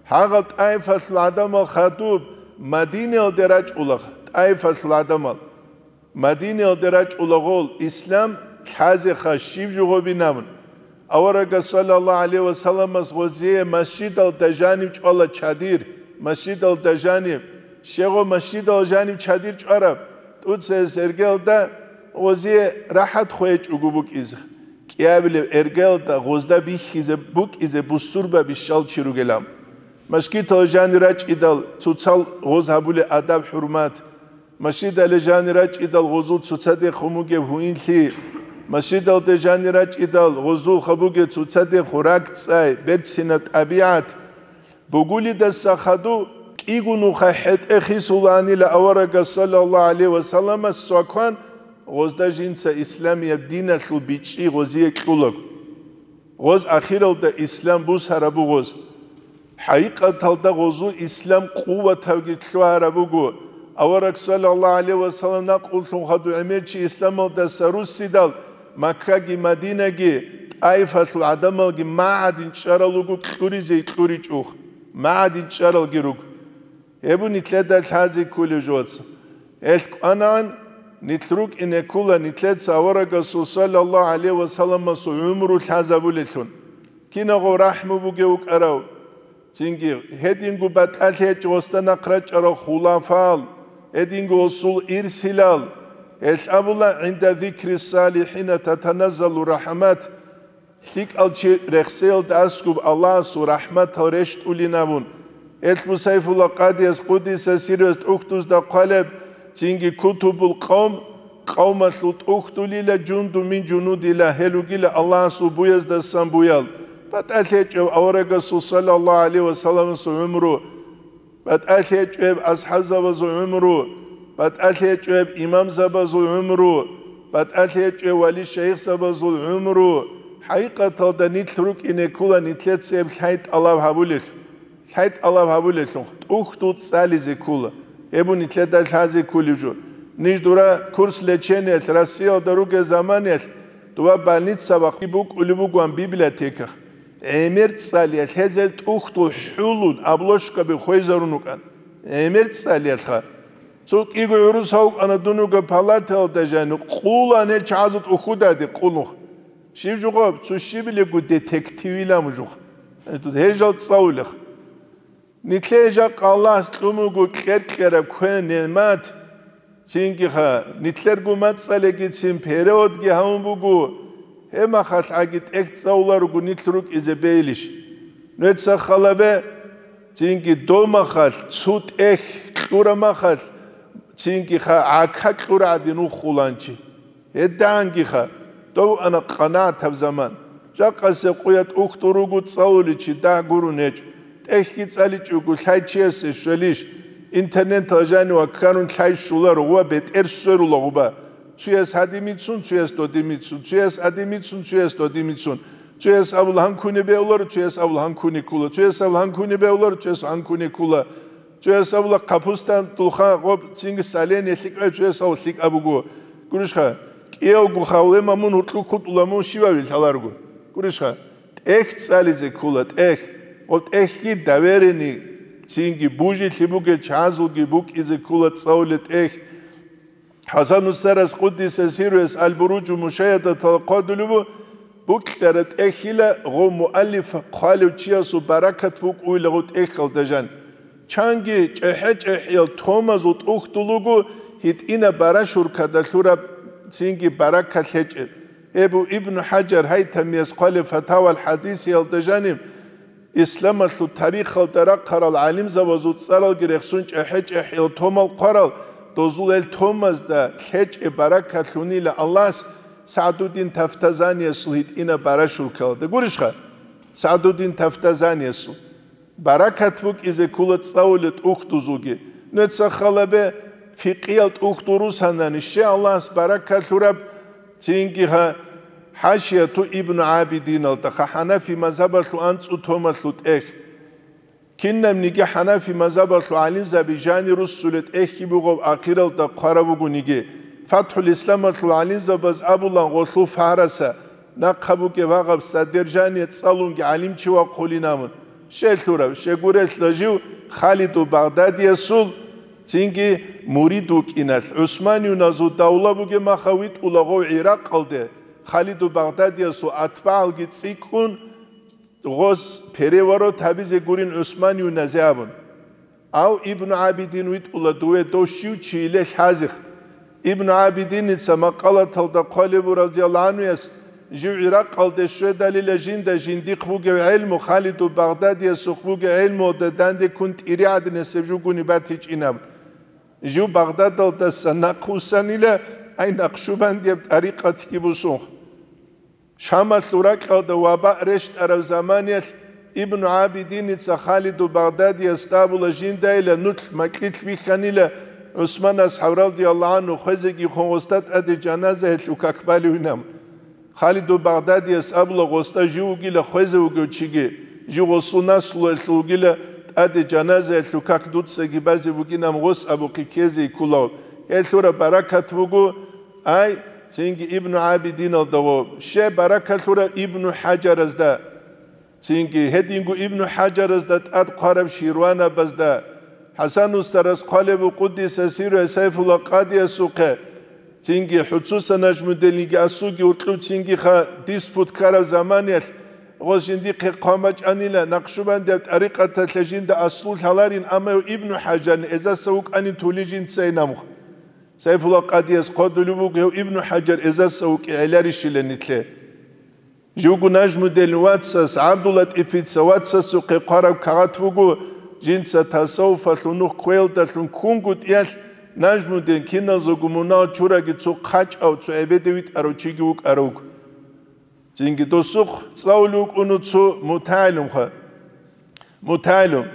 Гьагъал ТӀаифалъул гӀадамал хадуб Мадинаялде рачӀула, ТӀаифалъул гӀадамал. Мадинаялде рачӀулагъул ислам лъазеха щиб жо гъобинабун. Аварагас, саллаллагьу гӀалайгьи ва салламас, гъозие масжидалда жанив чӀвала чадир, масжидалда жанив, щегъо масжидал жанив чадир чӀвараб, тӀуцаялъ эргелда гъозие рахӀат хвечӀого букӀизе, кӀиабилеб эргелда гъозда бихьизе букӀизе бусурба бищал чи ругилан. Мажгитал жанир рачӀидал цоцал гъоз гьабулеб адаб-хӀурмат, Мажгиталде жанир рачӀидал гъозул цоцадехун бугеб гьуинлъи, мажгиталде жанир рачӀидал гъозулха бугеб цоцадехун ракӀцӀай, берцинаб тӀабигӀат. Бугулидаса хадув кӀиго нуха хӀетӀе хисулаанила аварагас, саллаллагьу гӀалайгьи ва салламас, цвакван, гъозда жинца исламияб диналъул бичӀчӀи гъозие кьулаго. Гъоз ахиралда ислам бусараб буго гъоз. ХӀакъикъаталда гъозул ислам къуватавги лъугьараб буго. Авараг, саллаллагьу гӀалайгьи ва саллам, накълулъун хадув гӀемер чи исламалдаса руссидал, Маккаги Мадинаги, ТӀаифалъул гӀадамалги магӀадин чӀарал руго кьуризе кьуричӀухъ, магӀадин чӀаралги руго. Гьеб нилъеда лъазе кколеб жо, вацал. Гьелъ кӀванагӀан, нилъ рукӀине ккола нилъеца аварагасул, саллаллагьу гӀалайгьи ва салламасул, гӀумру лъазабулелъун. Киналго рахӀму бугев вукӀарав, цинги гьединго батӀалъи гьечӀо гъосда нахъ рачӀарал хулафал, гьединго гъосул ирсилал. Гьелъ абула: «ГӀинда зикри салихӀина татаназзалу рахӀмат». ЛъикӀал чи рехсеялда аскӀуб Аллагьасул рахӀматал рещтӀулин абун. Гьелъ Сайфулла Къадияс, къудиса сирругьу, тӀухьдузда хъвалеб, цинги кутубул къавм, къавмалъул тӀухьдулила, жунду мин жунудила, гьел ругила Аллагьасул буяздасан буял. БатӀалъи гьечӀеб аварагасул, саллаллагьу гӀалайгьи ва салламасул, гӀумру. БатӀалъи гьечӀеб асхӀабзабазул гӀумру, батӀалъи гьечӀеб имамзабазул гӀумру, батӀалъи гьечӀеб вали-шайихзабазул гӀумру. ХӀакъикъаталда нилъ рукӀине ккола нилъеца гьеб лъай тӀалаб гьабулелъул. Лъай тӀалаб гьабулелъул, тӀухьдул цӀализе ккола. Гьеб нилъеда лъазе кколеб жо. Ниж дура курс лечениялъ Россиялда ругел заманиялъ, дова больница бахъи букӀулеб бугоан библиотеках. ГӀемер цӀалиялъ гьезел тӀухьдул хӀулун обложкаби хвезарун рукӀан. ГӀемер цӀалиялъха. Цо кӀиго гӀурус гьавкӀана дун руго палатаялда жанив, къулан гьел чагӀазул тӀухьдудаде къулухъ. Щиб жугъаб, цо щибилебго детективилан жугъ. Гьел жал цӀалулех. Нилъее жакъа Аллагьас кьун буго кьер-кьераб квен-нигӀмат, цинги-ха, нилъерго мацӀалагицин переводги гьавун буго, гьеб махалъ гӀаги тӀехь цӀалуларого нилъ рукӀизе бейилищ? Нуца халабе, цинги дов махалъ цо тӀехь кьура махалъ, цинги-ха гӀака кьура гӀадин вухуланчи. ГьедагӀангиха, дов ана къанагӀатаб заман. Жакъасе къуя тӀухьдул руго цӀалуличи дагь гурун гьечӀо. ТӀехьги цӀаличӀого лъай чиясе щвелищ? Интернетал жанив ваккарун лъай щуларо ва бетӀер сверула гъуба. Цуяс гьадимицун, цуяс додимицун, цуяс гьадимицун, цуяс додимицун. Цуяс абула гьанкуне беуларо, цуяс абула гьанкуне ккула, цуяс абула гьанкуне беуларо, цуяс гьанкуне ккула. Цуяс абула хъапустан дулха гъоб цинги сален лъикӀай, цуяс абула лъикӀаб буго. Гурищха, кӀиявго хавлема мун гьуркьу хутӀула мун щивав лъаларго. Гурищха, ТӀехь цӀализе ккола, тӀехь. Гъоб тӀехьги доверенный, цинги бужилъи бугел чагӀазулги букӀизе ккола цӀалулел тӀехь. ХӀасан устарас, къуддиса сирругьу, Аль-Буруджу Мушайядаталда хъвалеб буго, букӀараб тӀехьила гъов муаллиф хъвалев чиясул баракат букӀуйила гъов тӀехьалда жан. Чанги чӀехӀе-чӀехӀиял томазул тӀухьдул руго гьитӀинаб барашуркада лъураб, цинги баракат лъечӀеб. Гьеб буго Ибну ХӀажар Гьайтамияс хъвалеб Фатавал ХӀадисиялда жаниб, исламалъул тарихалда рахъарал гӀалимзабазул цӀаралги рехсун чӀехӀе-чӀехӀиял томал хъварал, дозул гьел томазда лъечӀеб баракат лъунила Аллагьас СагӀдуддин Тафтазаниясул гьитӀинаб барашуркалда. Гурищха? СагӀдуддин Тафтазаниясул. Баракат букӀизе ккола цӀалулел тӀухьдузулги. Нужеца хал гьабе, фикъиял тӀухьдул русанани, щай Аллагьас баракат лъураб, цинги гьа, ХӀашияту Ибну ГӀабидиналда, ха, ХӀанафи мазгьабалъул анцӀу томалъул тӀехь. Кинабниги ХӀанафи мазгьабалъул гӀалимзаби жани руссулел тӀехьги бугеб ахиралда хъвараб бугониги, ФатхӀул Исламалъул гӀалимзабаз абулан гъолъул фагьраса, нахъа бугеб гьагъаб содержание цӀалунги гӀалимчи вахъулин абун. Щай лъураб, щай гурелъул жив Халиду Багъдадиясул цинги мурид вукӀиналъ, ГӀусманиюназул давла бугеб махал витӀула гъов ГӀиракъалде, Халиду Багъдадиясул атбагӀалги цӀикӀкӀун, гъос переворот гьабизе гурин ГӀусманиюназе абун. Ав Ибну ГӀабидин витӀула дуве, дов щив чийиле лъазехъ. Ибну ГӀабидиница макъалаталда хъвалеб буго, радияллагьу гӀанхуяс, жив ГӀиракъалде щведалила жинда жиндихъ бугев гӀелму, Халиду Багъдадиясухъ бугев гӀелмуялда данде ккун тӀири гӀадин гьесев жугуни батичӀин абун. Жив Багъдадалдаса нахъвуссанила, ай, накъшубандияб тӀарикъатги бусунх. Шамалъул ракьалда ваба рещтӀараб заманиялъ Ибну ГӀабидиница Халиду Багъдадиясда абула жиндайила, нух макьилъ бихьанила ГӀусман асхӀаб радияллагьу гӀанху хвезеги хун гъосда тӀаде жаназаялъул как балевинан. Халиду Багъдадияс абула гъосда жив вугила хвезе вугев чиги, жив гъосул наслуялъул вугила тӀаде жаназаялъул как дуцаги базе бугинан гъос абухъе ккезе кколав. Гьелъ лъураб баракат буго, ай, цинги Ибну ГӀабидиналда гъо. Щай баракат лъураб Ибну ХӀажаразда, цинги гьединго Ибну ХӀажаразда тӀад хъвараб ширванабазда, ХӀасан устарас хъвалеб буго, къуддиса сирругьу, Сайфулла Къадиясухъе, цинги ХӀуцуса Нажмуддинги асулги уркьуб цинги ха диспут ккараб заманиялъ, гъос жиндихъе хъван бачӀанила, накъшубандияб тӀарикъаталъе жинда аслу лъаларин, амма гьев Ибну ХӀажарни эзаса вукӀанин тули жинцайин абун. Сайфулла Къадияс хъвалеб буго, гьев Ибну ХӀажар эзаса вукӀи гӀеларищила нилъе. Живго Нажмуддин вацас, ГӀабдуллатӀифица вацасухъе хъвараб кагъат буго, жинца тасаввуфалъул нух кквеялдалъун ккунгутӀиялъ, Нажмуддин киназего мунагьал чураги цо хъачӀав, цо гӀебеде витӀарав чиги вукӀарав вуго. Цинги досухъ цӀалулев вукӀуна цо мутагӀилимха. МутагӀилим.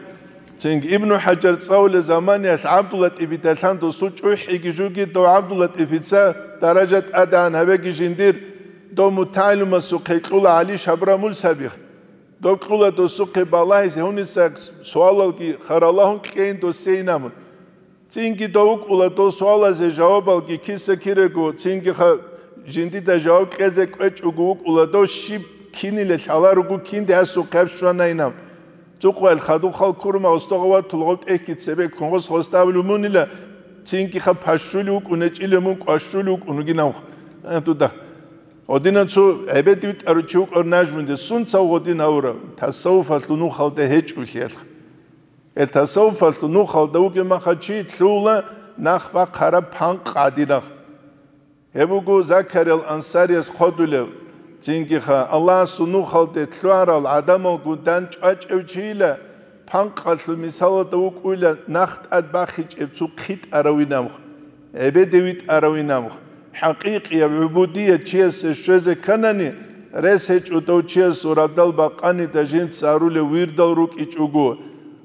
Цинги Ибну ХӀажар цӀалулел заманиялъ ГӀабдуллатӀифидалъан досул чӀухӀиги жуги, дов ГӀабдуллатӀифица даража тӀадегӀан гьабеги жиндир, дов мутагӀилимасухъе кьула ГӀали Шабрамул сабихъ. Дов кьула досухъе балагьизе гьуниса суалалги харалагьун кьейин досейин абун. Цинги дов вукӀула дов суалазе жавабалги киса-кирего, цинги ха-, жиндида жаваб кьезе кӀвечӀого вукӀула дов, щиб кинилел лъаларуго, кинде гьасухъе гьаб щванайин абун. Цо къоялъ хадуб хал ккурма устогъа ватула гъоб тӀехьги цебе ккун гъос гъосда абулеб мунила, цинги ха пащулев вукӀун гьечӀила мун, кӀващулев вукӀун вугин абун. Э, дуда. Гъодинан цо гӀебеде витӀарав чи вукӀар Нажмуддин, сунцав гъодин гьавурав, тасаввуфалъул нухалда гьечӀолъиялъ. Гьел тасаввуфалъул нухалда вугеб маха чи лъугьула нах бахъараб панкъ гӀадинаб. Гьеб буго Закариял Ансарияс хъвалеб, цинги ха, Аллагьасул нухалде лъугьарал гӀадамалгун дандчӀвачӀев чийила, панкъалъул мисалалда вукӀуйила нах тӀад бахичӀеб цо хъитӀаравинаб, гӀебеде витӀаравинаб. ХӀакъикъияб гӀубудият чиясе щвезе кканани, рес гьечӀо дов чиясул радал бакъанида жинца гьарулев вирдал рукӀичӀого,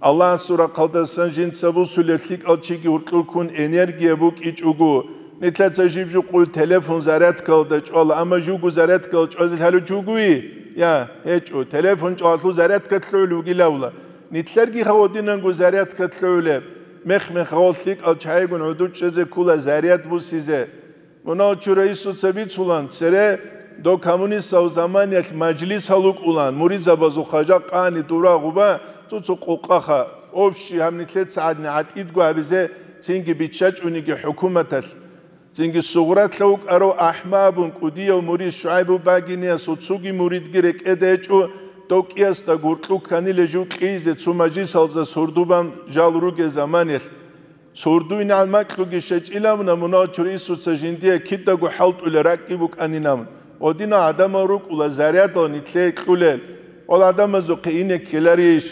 Аллагьасул рахъалдасан жинца бусулев лъикӀал чиги гьуркьулккун энергия букӀичӀого, нилъаца жиб-жукъуй телефон зарядкалда чӀвала, амма живго зарядкалда чӀвазе лъалев чи вугевищ? Я, гьечӀо, телефон чӀвалалъул зарядка лъугӀулев вугилавла. Нилъерги гьавадинанго зарядка лъугӀулеб, мех-мехалъ лъикӀал чагӀигун гӀодов чӀезе ккола заряд бусизе. Мунагьал чура Исуца бицулан, цере Дов коммунистав заманиялъ мажлисал рукӀулан, муридзабазул хъажа къани дура гъуба, цо-цо къокъаха, общий гьаб нилъеца гӀадин гӀатӀидго гьабизе цинги биччачӀониги хӀукуматалъ. Цинги Сугъратлъа вукӀарав АхӀма абун кӀудияв мурид ШугӀайбу Багиниясул цоги муридги рекӀеда гьечӀо, дов кӀиясда гуркьу кканила жив кьизе цо мажлисалзас гьурдубан жал ругел заманиялъ. Сурдуйнал макьуги щечӀилавна, мунагьал чурисуца жиндие кидаго хӀалтӀула ракӀги букӀанинав. Гъодинал гӀадамал рукӀула зарядал нитлъе кьулел. Гъол гӀадамазухъе ине ккеларищ?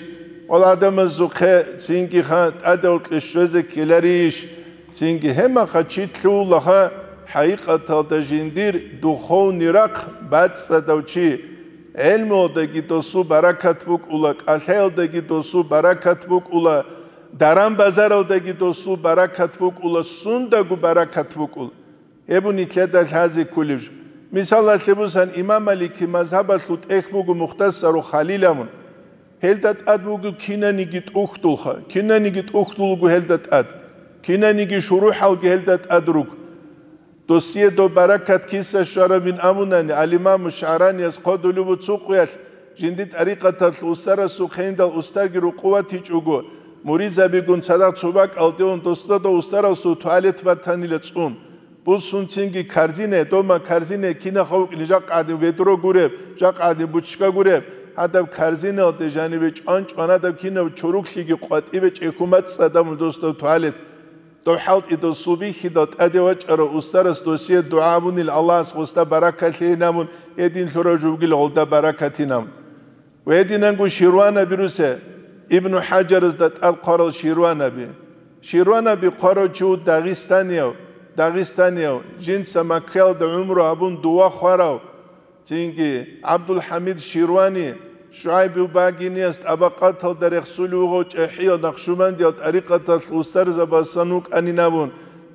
Гъол гӀадамазухъе цинги ха тӀадегӀукье щвезе ккеларищ? Цинги гьемаха чи лъугьулаха, хӀакъикъаталда жиндир духовный рахъ бацӀцӀадав чи. ГӀелмуялдаги досул баракат букӀула, кӀалъаялдаги досул баракат букӀула, даран-базаралдаги досул баракат букӀула, сундаго баракат букӀула. Гьеб нилъеда лъазе кколеб жо. Мисалалъе бусан, имам Малики мазгьабалъул тӀехь буго Мухтасару Халил абун. Гьелда тӀад буго кинаниги тӀухьдулха, кинаниги тӀухьдул буго гьелда тӀад, кинаниги шурухӀалги гьелда тӀад руго. Досие доб баракат киса щварабин абунани, ал-Имаму ШагӀранияс хъодулев буго цо къуялъ, жинди тӀарикъаталъ устарасухъ гьендал устарги рукъуватичӀого, муридзабигун цадахъ цо бакӀалде ун досда дов устарасул туалет батанила цӀун. Бусун цинги корзине, дома корзине, кинаха вукӀине, жакъа гӀадин ведро гуреб, жакъа гӀадин бучка гуреб, гьадаб корзиналде жанибе чӀван-чӀван гьадаб кинаб чоруклъиги къватӀибе чӀехьумацӀцӀадабун досда туалет. Дов хӀалтӀи досул бихьидал тӀаде вачӀарав устарас досие дугӀа абунил Аллагьас гъосда баракат лъейин абун, гьедин лъурав жугил гъолда баракатин абун. Ва гьединанго ширванаби русе, Ибну ХӀажаразда тӀад хъварал ширванаби. Ширванаби хъварав чи ву дагъистанияв, дагъистанияв, жинца Маккаялда гӀумру абун дова хварав, цинги ГӀабдулхӀамид Ширвани, ШугӀайбу Багинияс тӀабакъаталда рехсулев вугъав чӀехӀиял Нахшубандиял тӀарикъаталъ устарзабасан вукӀанин абун,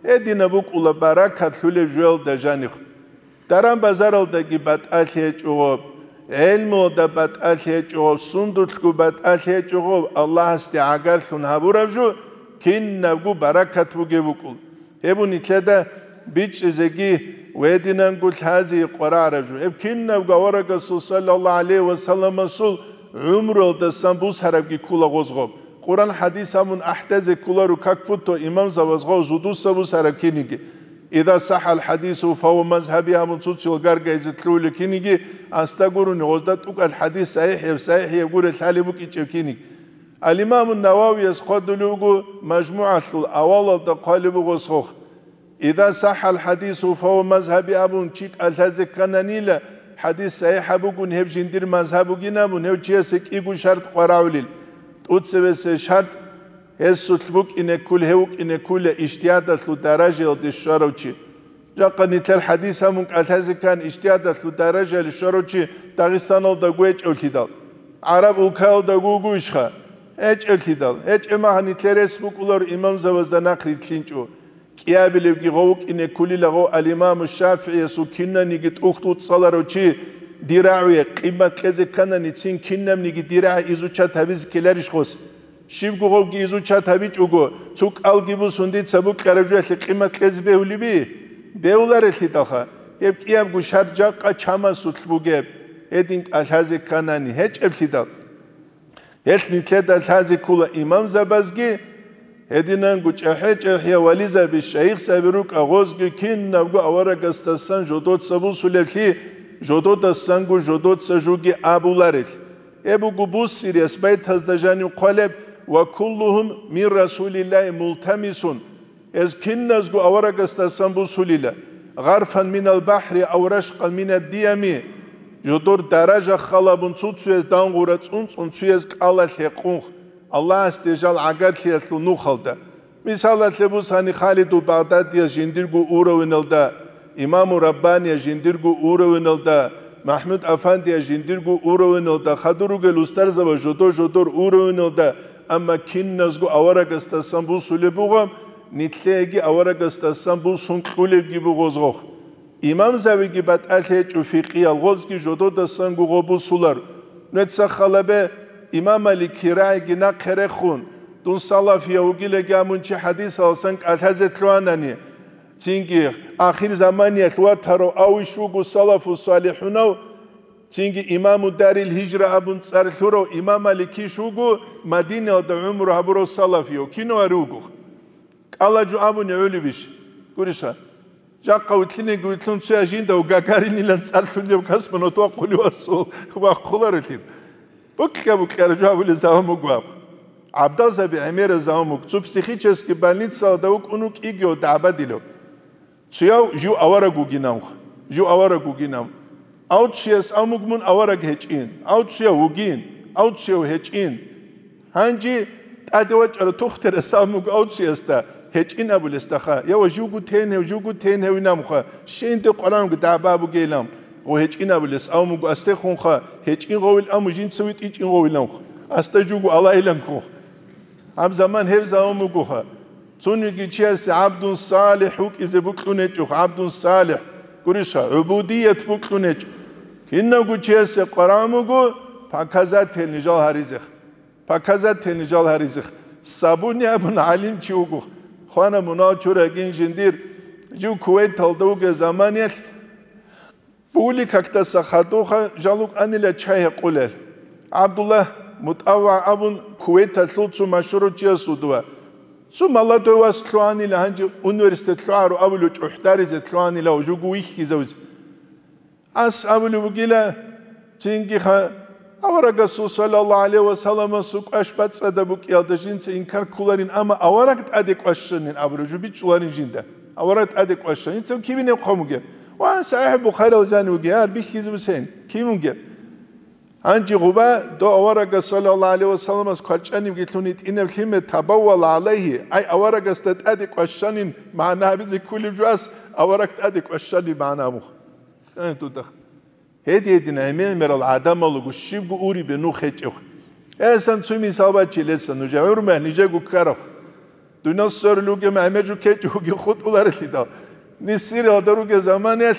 гьединаб букӀула баракат лъулеб жоялда жанихъ. Даран-базаралдаги батӀалъи гьечӀо гъоб, гӀелмуялда батӀалъи гьечӀо гъоб, сундулъго батӀалъи гьечӀо гъоб, Аллагьасде гӀагарлъун гьабураб жо кинабго баракат бугеб букӀул. Гьеб нилъеда бичӀчӀизеги ва гьединанго лъазе къварагӀараб жо. Гьеб кинабго аварагасул саллаллагьу гӀалайгьи ва салламасул гӀумруялдасан бусарабги ккула гъоз гъоб. Къуран-хӀадис абун ахӀдазе кколаро как будто имамзабаз гъов зудуса бусараб киниги. Иза сахӀал хӀадису фагьуа мазгьаби абун цуцил гаргайзе лъугьулел киниги, асда гурони гъозда тӀукӀал хӀадис сахӀихӀеб, сахӀихӀеб гурел лъалеб букӀинчӀеб киниги. Ал-Имаму Нававияс хъвадулев вуго МажмугӀалъул авалалда хъвалеб буго сох. Иза сахӀал хӀадису фагьуа мазгьаби абун чи кӀалъазе ккананила, хӀадис сахӀихӀаб бугун гьеб жиндир мазгьаб бугин абун гьев чиясе кӀиго шартӀ къварагӀулел. ТӀуцебесеб шартӀ, гьесулъ букӀине ккул, гьев вукӀине ккула ижтигьадалъул даражаялде щварав чи. Жакъа нилъер хӀадис гьабун кӀалъазе ккан ижтигьадалъул даражаялде щварав чи Дагъистаналда гьечӀевлъидал, гӀараб улкаялда вугойищха? ГьечӀевлъидал, гьечӀеб мехалъ нилъер рес букӀуларо имамзабазда нахъ рилълъинчӀо. КӀиабилебги гъов вукӀине ккулила гъов ал-Имаму ШафигӀиясул кинаниги тӀухьдул цӀаларав чи дир рагӀуе къимат кьезе кканани, цин кинабниги дир рагӀи изучат гьабизе ккеларищ гъос? Щибго гъовги изучат гьабичӀого, цо кӀалги бусун дица букьараб жоялъе къимат кьезе бегьулеби? Бегьуларелъидалха, гьеб кӀиябго шартӀ жакъа чамасулъ бугеб, гьедин кӀалъазе кканани, гьечӀеблъидал. Гьелъ нилъеда лъазе ккола имамзабазги, гьединанго чӀахӀи-чӀахӀиял вализаби, шайихзаби рукӀа гъозги кинабго аварагасдасан жодоца бусулеблъи, жододасанго жодоца жуги абуларел. Гьеб буго буссирияс байтазда жанив хъвалеб: «Ва куллугьум мин Расулиллагьи мултамисун». Гьез киназго аварагасдасан бусулила: «Гъарфан минал бахӀри ав рашкъан минад диями», жодор даража халабун цуцуяз дангъура цӀунцӀун цуяз кӀалалъ гьекъунх, Аллагьасде жал гӀагарлъиялъул нухалда. Мисалалъе бусани, Халидул Багъдадияс жиндирго уровеналда, Имаму Раббанияс жиндирго уровеналда, МахӀмуд Афандияс жиндирго уровеналда, хадур ругел устарзабаз жодо-жодор уровеналда, амма киназго аварагасдасан бусулеб буго, нилъееги аварагасдасан бусун кьулебги буго гъозгъохъ. Имамзабиги батӀалъи гьечӀо фикъиял, гъозги жододасанго гъо бусулар. Нуца халабе, имам Маликил рагӀиги нахъе рехун, дун салафияв вугилаги абун чи хӀадисаласан кӀалъазе лъугьанани, Цинги ахир заманиялъ ватарав авищ вуго салафу салихӀунав, цинги имаму Дарил Гьижра абун цӀар лъурав имам Маликищ вуго Мадинаялда гӀумру гьабурав салафияв, кинав гьари вуго. КӀалаго абуни гӀолебищ? Гуриша, жакъа вилълъинеги вилълъун цояв жинда Гагаринилан цӀар лъугьинев космонавт вахъулев асул вахъуларелъин. Букьа-букьара жо гьабулел заман буго аб. ГӀабдалзаби гӀемераб заман буго. Цо психический больницалда вукӀун вукӀиги дагӀбадилев. Цояв жив авараг вугинавха, жив авараг вугинав. Авцияс амуг мун авараг гьечӀин, авцияв вугин, авцияв гьечӀин. Гьанже тӀаде вачӀарав тухтерас амуг авциясда гьечӀин абулесдаха, я ва живго тенев, живго теневинамха, щенде къваранго дагӀба бугейилан, гъо гьечӀин абулес амуго астехунха, гьечӀин гъовил аму жинца витӀичӀин гъовиланха, аста живго алайиланхунха. Гьаб заман гьеб заман бугоха. Цониги чиясе гӀабдун салихӀ вукӀизе букьун гьечӀо, гӀабдун салихӀ, гуриша, гӀубудият букьун гьечӀо. Кинавго чиясе къваран буго, показательный жал гьаризех. Показательный жал гьаризех. Сабуни абун гӀалимчи вуго. Хвана мунал чурагин жиндир, жив Кувейталда вугеб заманиялъ, Були какдаса хадуха жал рукӀанила чай гьекъулел. ГӀабдуллагь МутӀавва абун Кувейталъул цо машгьурав чиясул дова. Цо молодой вас лъугьанила, гьанже университет лъугӀаро абулев чӀухӀдаризе лъугьанила ва жуго вихьизавизе. Ас абулев вугила, цинги ха, аварагасул саллаллагьу гӀалайгьи ва салламасул кӀваш бацӀцӀадаб букӀиялда жинца инкар кколарин, амма авараг тӀаде кӀващанин абураб жо бичӀчӀуларин жинда. Авараг тӀаде кӀващанин, цо кибинеб хъван бугеб? Ва СахӀихӀ Бухариял жанив вугев, гьар бихьизаб сен, кин вугев? Гьанже гъуба, дов аварагас саллаллагьу гӀалайгьи ва салламас кварчӀанибги лъун гьитӀинаб лъимер, табаввал гӀалайгьи, ай аварагасда тӀаде кӀващанин магӀна гьабизе кколеб жо ас авараг тӀаде кӀващанин магӀна гьабуха. Гьедин гьедин гӀемер-гӀемерал гӀадамал руго щибго урибе нух гьечӀев. Гьесан цо мисал бачила гьесан, нужер гӀумру нижего ккараб. Дуниял сверулев вугев гӀемер жо ккечӀого хутӀуларелъидал. Нисиралда ругел заманаялъ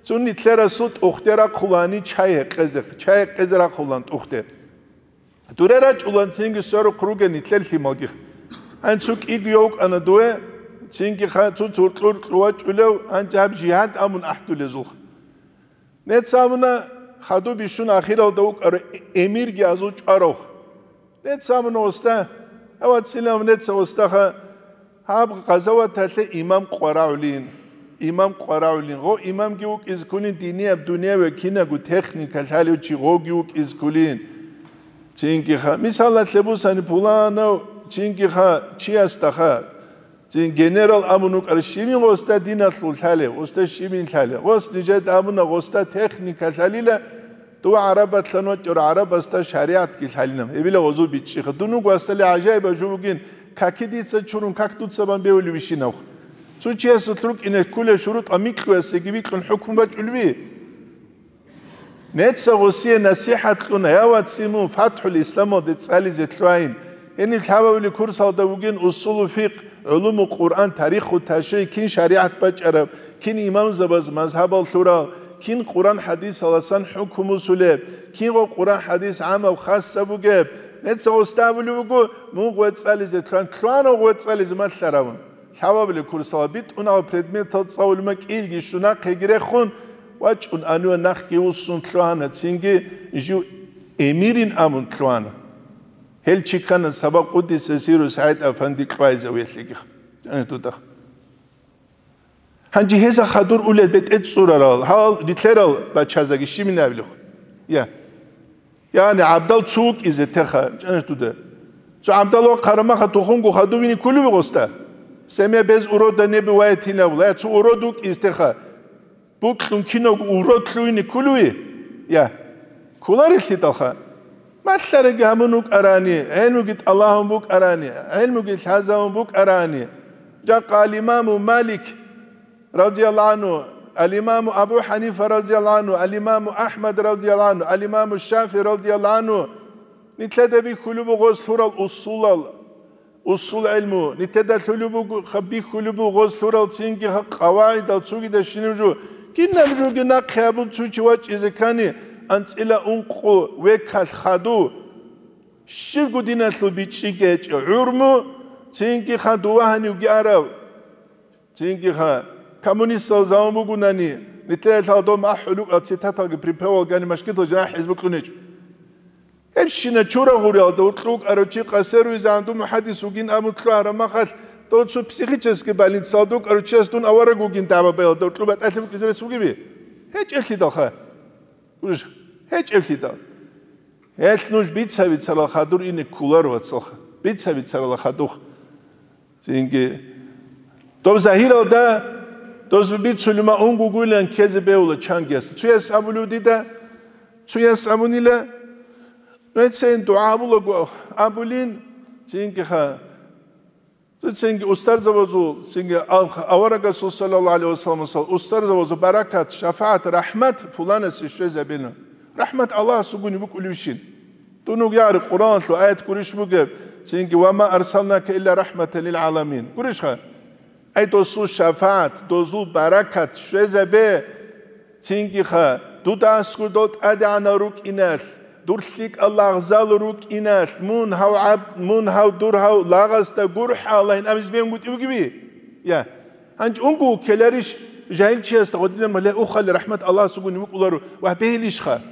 цо нилъерасул тӀухьде рахъулани чай гьекъезе, чай гьекъезе рахъулан тӀухьде. Дуре рачӀулан цинги сверухъ ругел нилъер лъималги. Гьанцу кӀиго йовкӀана дуе, цинги ха-, цо цуркьур кьувачӀулев, гьанже гьаб жигьад абун ахӀдулезулха. Нецц абуна, хадуб бищун ахиралда вукӀарав эмирги азул чӀварав. Нецц абуна, уста, гьавацилав нецц, устаха, гьаб гъазаваталъе имам къварагӀулин, имам къварагӀулин, гъо имамги вукӀизе кколин, динияб, дуняве кинаго техника лъалев чи гъоги вукӀизе кколин. Цинги ха, мисалалъе бусани, пуланав, цинги ха, чиясда ха, Цин генерал абун вукӀар щибин гъосда диналъул лъалев, гъосда щибин лъалев. Гъос нижеда абуна гъосда техника лъалила, дова гӀарабатлъан вачӀар гӀарабасда шаригӀатги лъалилан. Гьебила гъозул бичӀчӀиха. Дун вуго гьасдали гӀажаибаб жо бугин, каки дица чурун, как дуца бан бевулев ишинавх. Цо чиясулъ рукӀине кколел шурутӀа микьуясеги бикьун хӀукму бачӀулеби? Нецца гъосие насихӀат кьуна, я ваци, мун ФатхӀул Исламалде цӀализе лъугьайин. Гьениб лъабабилеб курсалда вугин усулу фикъ, гӀулуму Къуръан, тариху ташригӀ, кин шаригӀат бачӀараб, кин имамзабаз мазгьабал лъурал, кин Къуръан-хӀадисаласан хӀукму босулеб, кинго Къуръан-хӀадис гӀамаб, хасаб бугеб. Нецца гъосда абулеб буго, мун гъве цӀализе лъугьан, лъугьанав гъве цӀализе малъаравун. Лъабабилеб курсалда битӀунал предметал цӀалулеб ма кӀиялги щун нахъеги рехун, вачӀун ануя нахъги вуссун лъугьана, цинги жив эмирин абун лъугьана. Гьел чи ккана Саба къуддиса сирру СагӀид Афанди кьвайзавиялъеги. Гьанже гьеза хадур улел бетӀер цӀурарал, гьал рилълъерал бачазаги щибин абилев? Я. Яни гӀабдал цо вукӀизе теха, чӀанаш дуда. Цо гӀабдал ва хъарамаха тухумго хадувине кколеви гъосда? Семья без урода не бывает гьинабула. Я, цо урод вукӀизе теха. Букьун кинав урод лъугьине кколеви? Я. Кколарелъидалха. Малъареги гьабун вукӀарани, гӀелмуги тӀалабун букӀарани, гӀелмуги лъазабун букӀарани. Жакъа ал-Имаму Малик, радияллагьу гӀангьу, ал-Имаму Абу Ханифа, радияллагьу гӀангьу, ал-Имаму Ахмад, радияллагьу гӀангьу, ал-Имаму ШафигӀи, радияллагьу гӀангьу, нилъеда бихьулеб буго гъоз лъурал усулал, усул гӀелму, нилъеда лъулеб буго, ха-, бихьулеб буго гъоз лъурал цинги ха-, къавагӀидал цогидал щинаб жо, кинаб жоги нахъе абун цо чи вачӀизе ккани, анцӀила ункъо векалъ хадув, щибго диналъул бичӀчӀи гьечӀеб гӀумру, цинги ха-, дова гьанивги арав. Цинги ха, коммунистал заман бугунани, нилъеда лъала дом ахӀулукӀа цитаталги припевалгани машгитал жанахӀ хӀизбу кьунечӀо. Гьебщина чура гъуриялда уркьу вукӀарав чи къасер визагӀан дун мухӀаддис вугин абун лъугьараб махалъ, дов цо психический больницалда вукӀарав чияс дун авараг вугин дагӀба баялда уркьу батӀалъи букӀизе рес бугеби? ГьечӀеблъидалха. ГьечӀеблъидал. Гьелъ нуж бица-бицарал хадур ине кколаро, вацалха. Бица-бицарал хадух. Цинги. Дов загьиралда, дозби бицулима унгугуйлан ккезе бевла чангияс. Цуяс абулев дида, цуяс абунила, нугӀецайин дугӀа абулаго абулин, цинги ха. Цинги устарзабазул, цинги ал-, аварагасул саллаллагьу гӀалайгьи вассаламасул устарзабазул баракат, шафагӀат, рахӀмат пуланасе щвезабина. РахӀмат Аллагьасугуни букӀулевщин. Дунуг ягӀри Къуръаналъул аят гурищ бугеб, цинги: «Ва ма арсалнака илля рахӀматан лил гӀаламин». Гурищха? Ай досул шафагӀат, дозул баракат щвезабе, цинги ха, дуда аскӀор дол тӀадегӀанал рукӀиналъ, дур лъикӀал лагъзал рукӀиналъ, мун гьав гӀаб-, мун гьав дур гьав лагъасда гурхӀа Аллагьин абизе бегьунгутӀи бугеби? Я. Гьанчи унго ккеларищ жагьилчиясда гъодинаб мала ухали рахӀмат Аллагьасугуни вукӀуларо ва бегьилищха?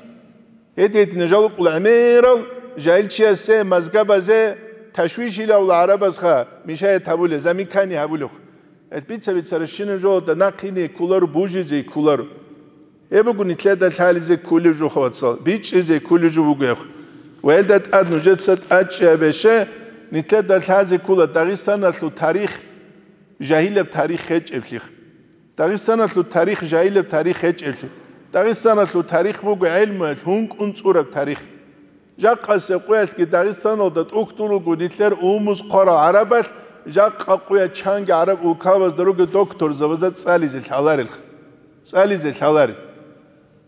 Гьедин-гьедин жал вукӀула гӀемерал жагьилчиясе, мазгабазе ташвишилавла гӀарабазха мешает гьабулеб, замикани гьабулеб. Гьел бица-бицаращинаб жоялда нахъине кколаро, бужизе кколаро. Гьеб буго нилъеда лъализе кколеб жо, вацал, бичӀчӀизе кколеб жо бугеб. Ва гьелда тӀад нужеца тӀадчӀей гьабе, нилъеда лъазе ккола Дагъистаналъул тарих, жагьилаб тарих гьечӀеблъи. Дагъистаналъул тарих жагьилаб тарих гьечӀеблъи. Дагъистаналъул тарих буго гӀелмуялъ гьункӀун цӀураб тарих. Жакъасеб къуялъги Дагъистаналда тӀухьдул руго нилъер умумуз хъварал гӀарабалъ, жакъа къуя чанги гӀараб улкабазда ругел докторзабазда цӀализе лъаларелха. ЦӀализе лъаларел.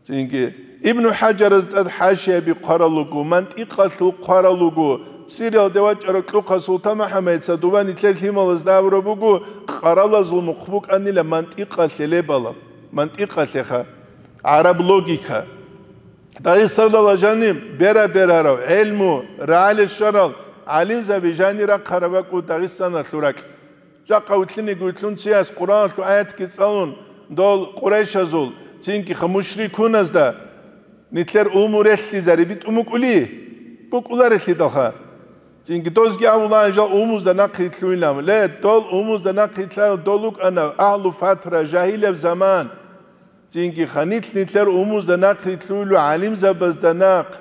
Цинги, Ибну ХӀажараз тӀад хӀашияби хъварал руго, мантикъалъул хъварал руго, Сириялде вачӀарав кьухъа СултанмухӀаммадица дова нилъер лъималазда абураб буго, къаралазул мухъ букӀанила мантикъалъе лебала, мантикъалъеха, гӀараб логика. Дагъистанала жаниб бера-берарав, гӀелму, рагӀалил щварал гӀалимзаби жанир рахъараб бакӀу Дагъистаналъул ракь. Жакъа вилълъиниги вилълъун чияс Къуръаналъул аятги цӀалун, дол къурайшазул, цинги ха мушрикуназда нилъер умуму релълъизари битӀун букӀули? БукӀуларелъидалха. Цинги дозги абулаан жал умумузда нахъ рилълъуйилан. Ле, дол умумузда нахъ рилълъарал дол рукӀана агьлу фатра, жагьилаб заман. Цинги ха нилъ-нилъер умумузда нахъ рилълъуйилу гӀалимзабазда нахъ,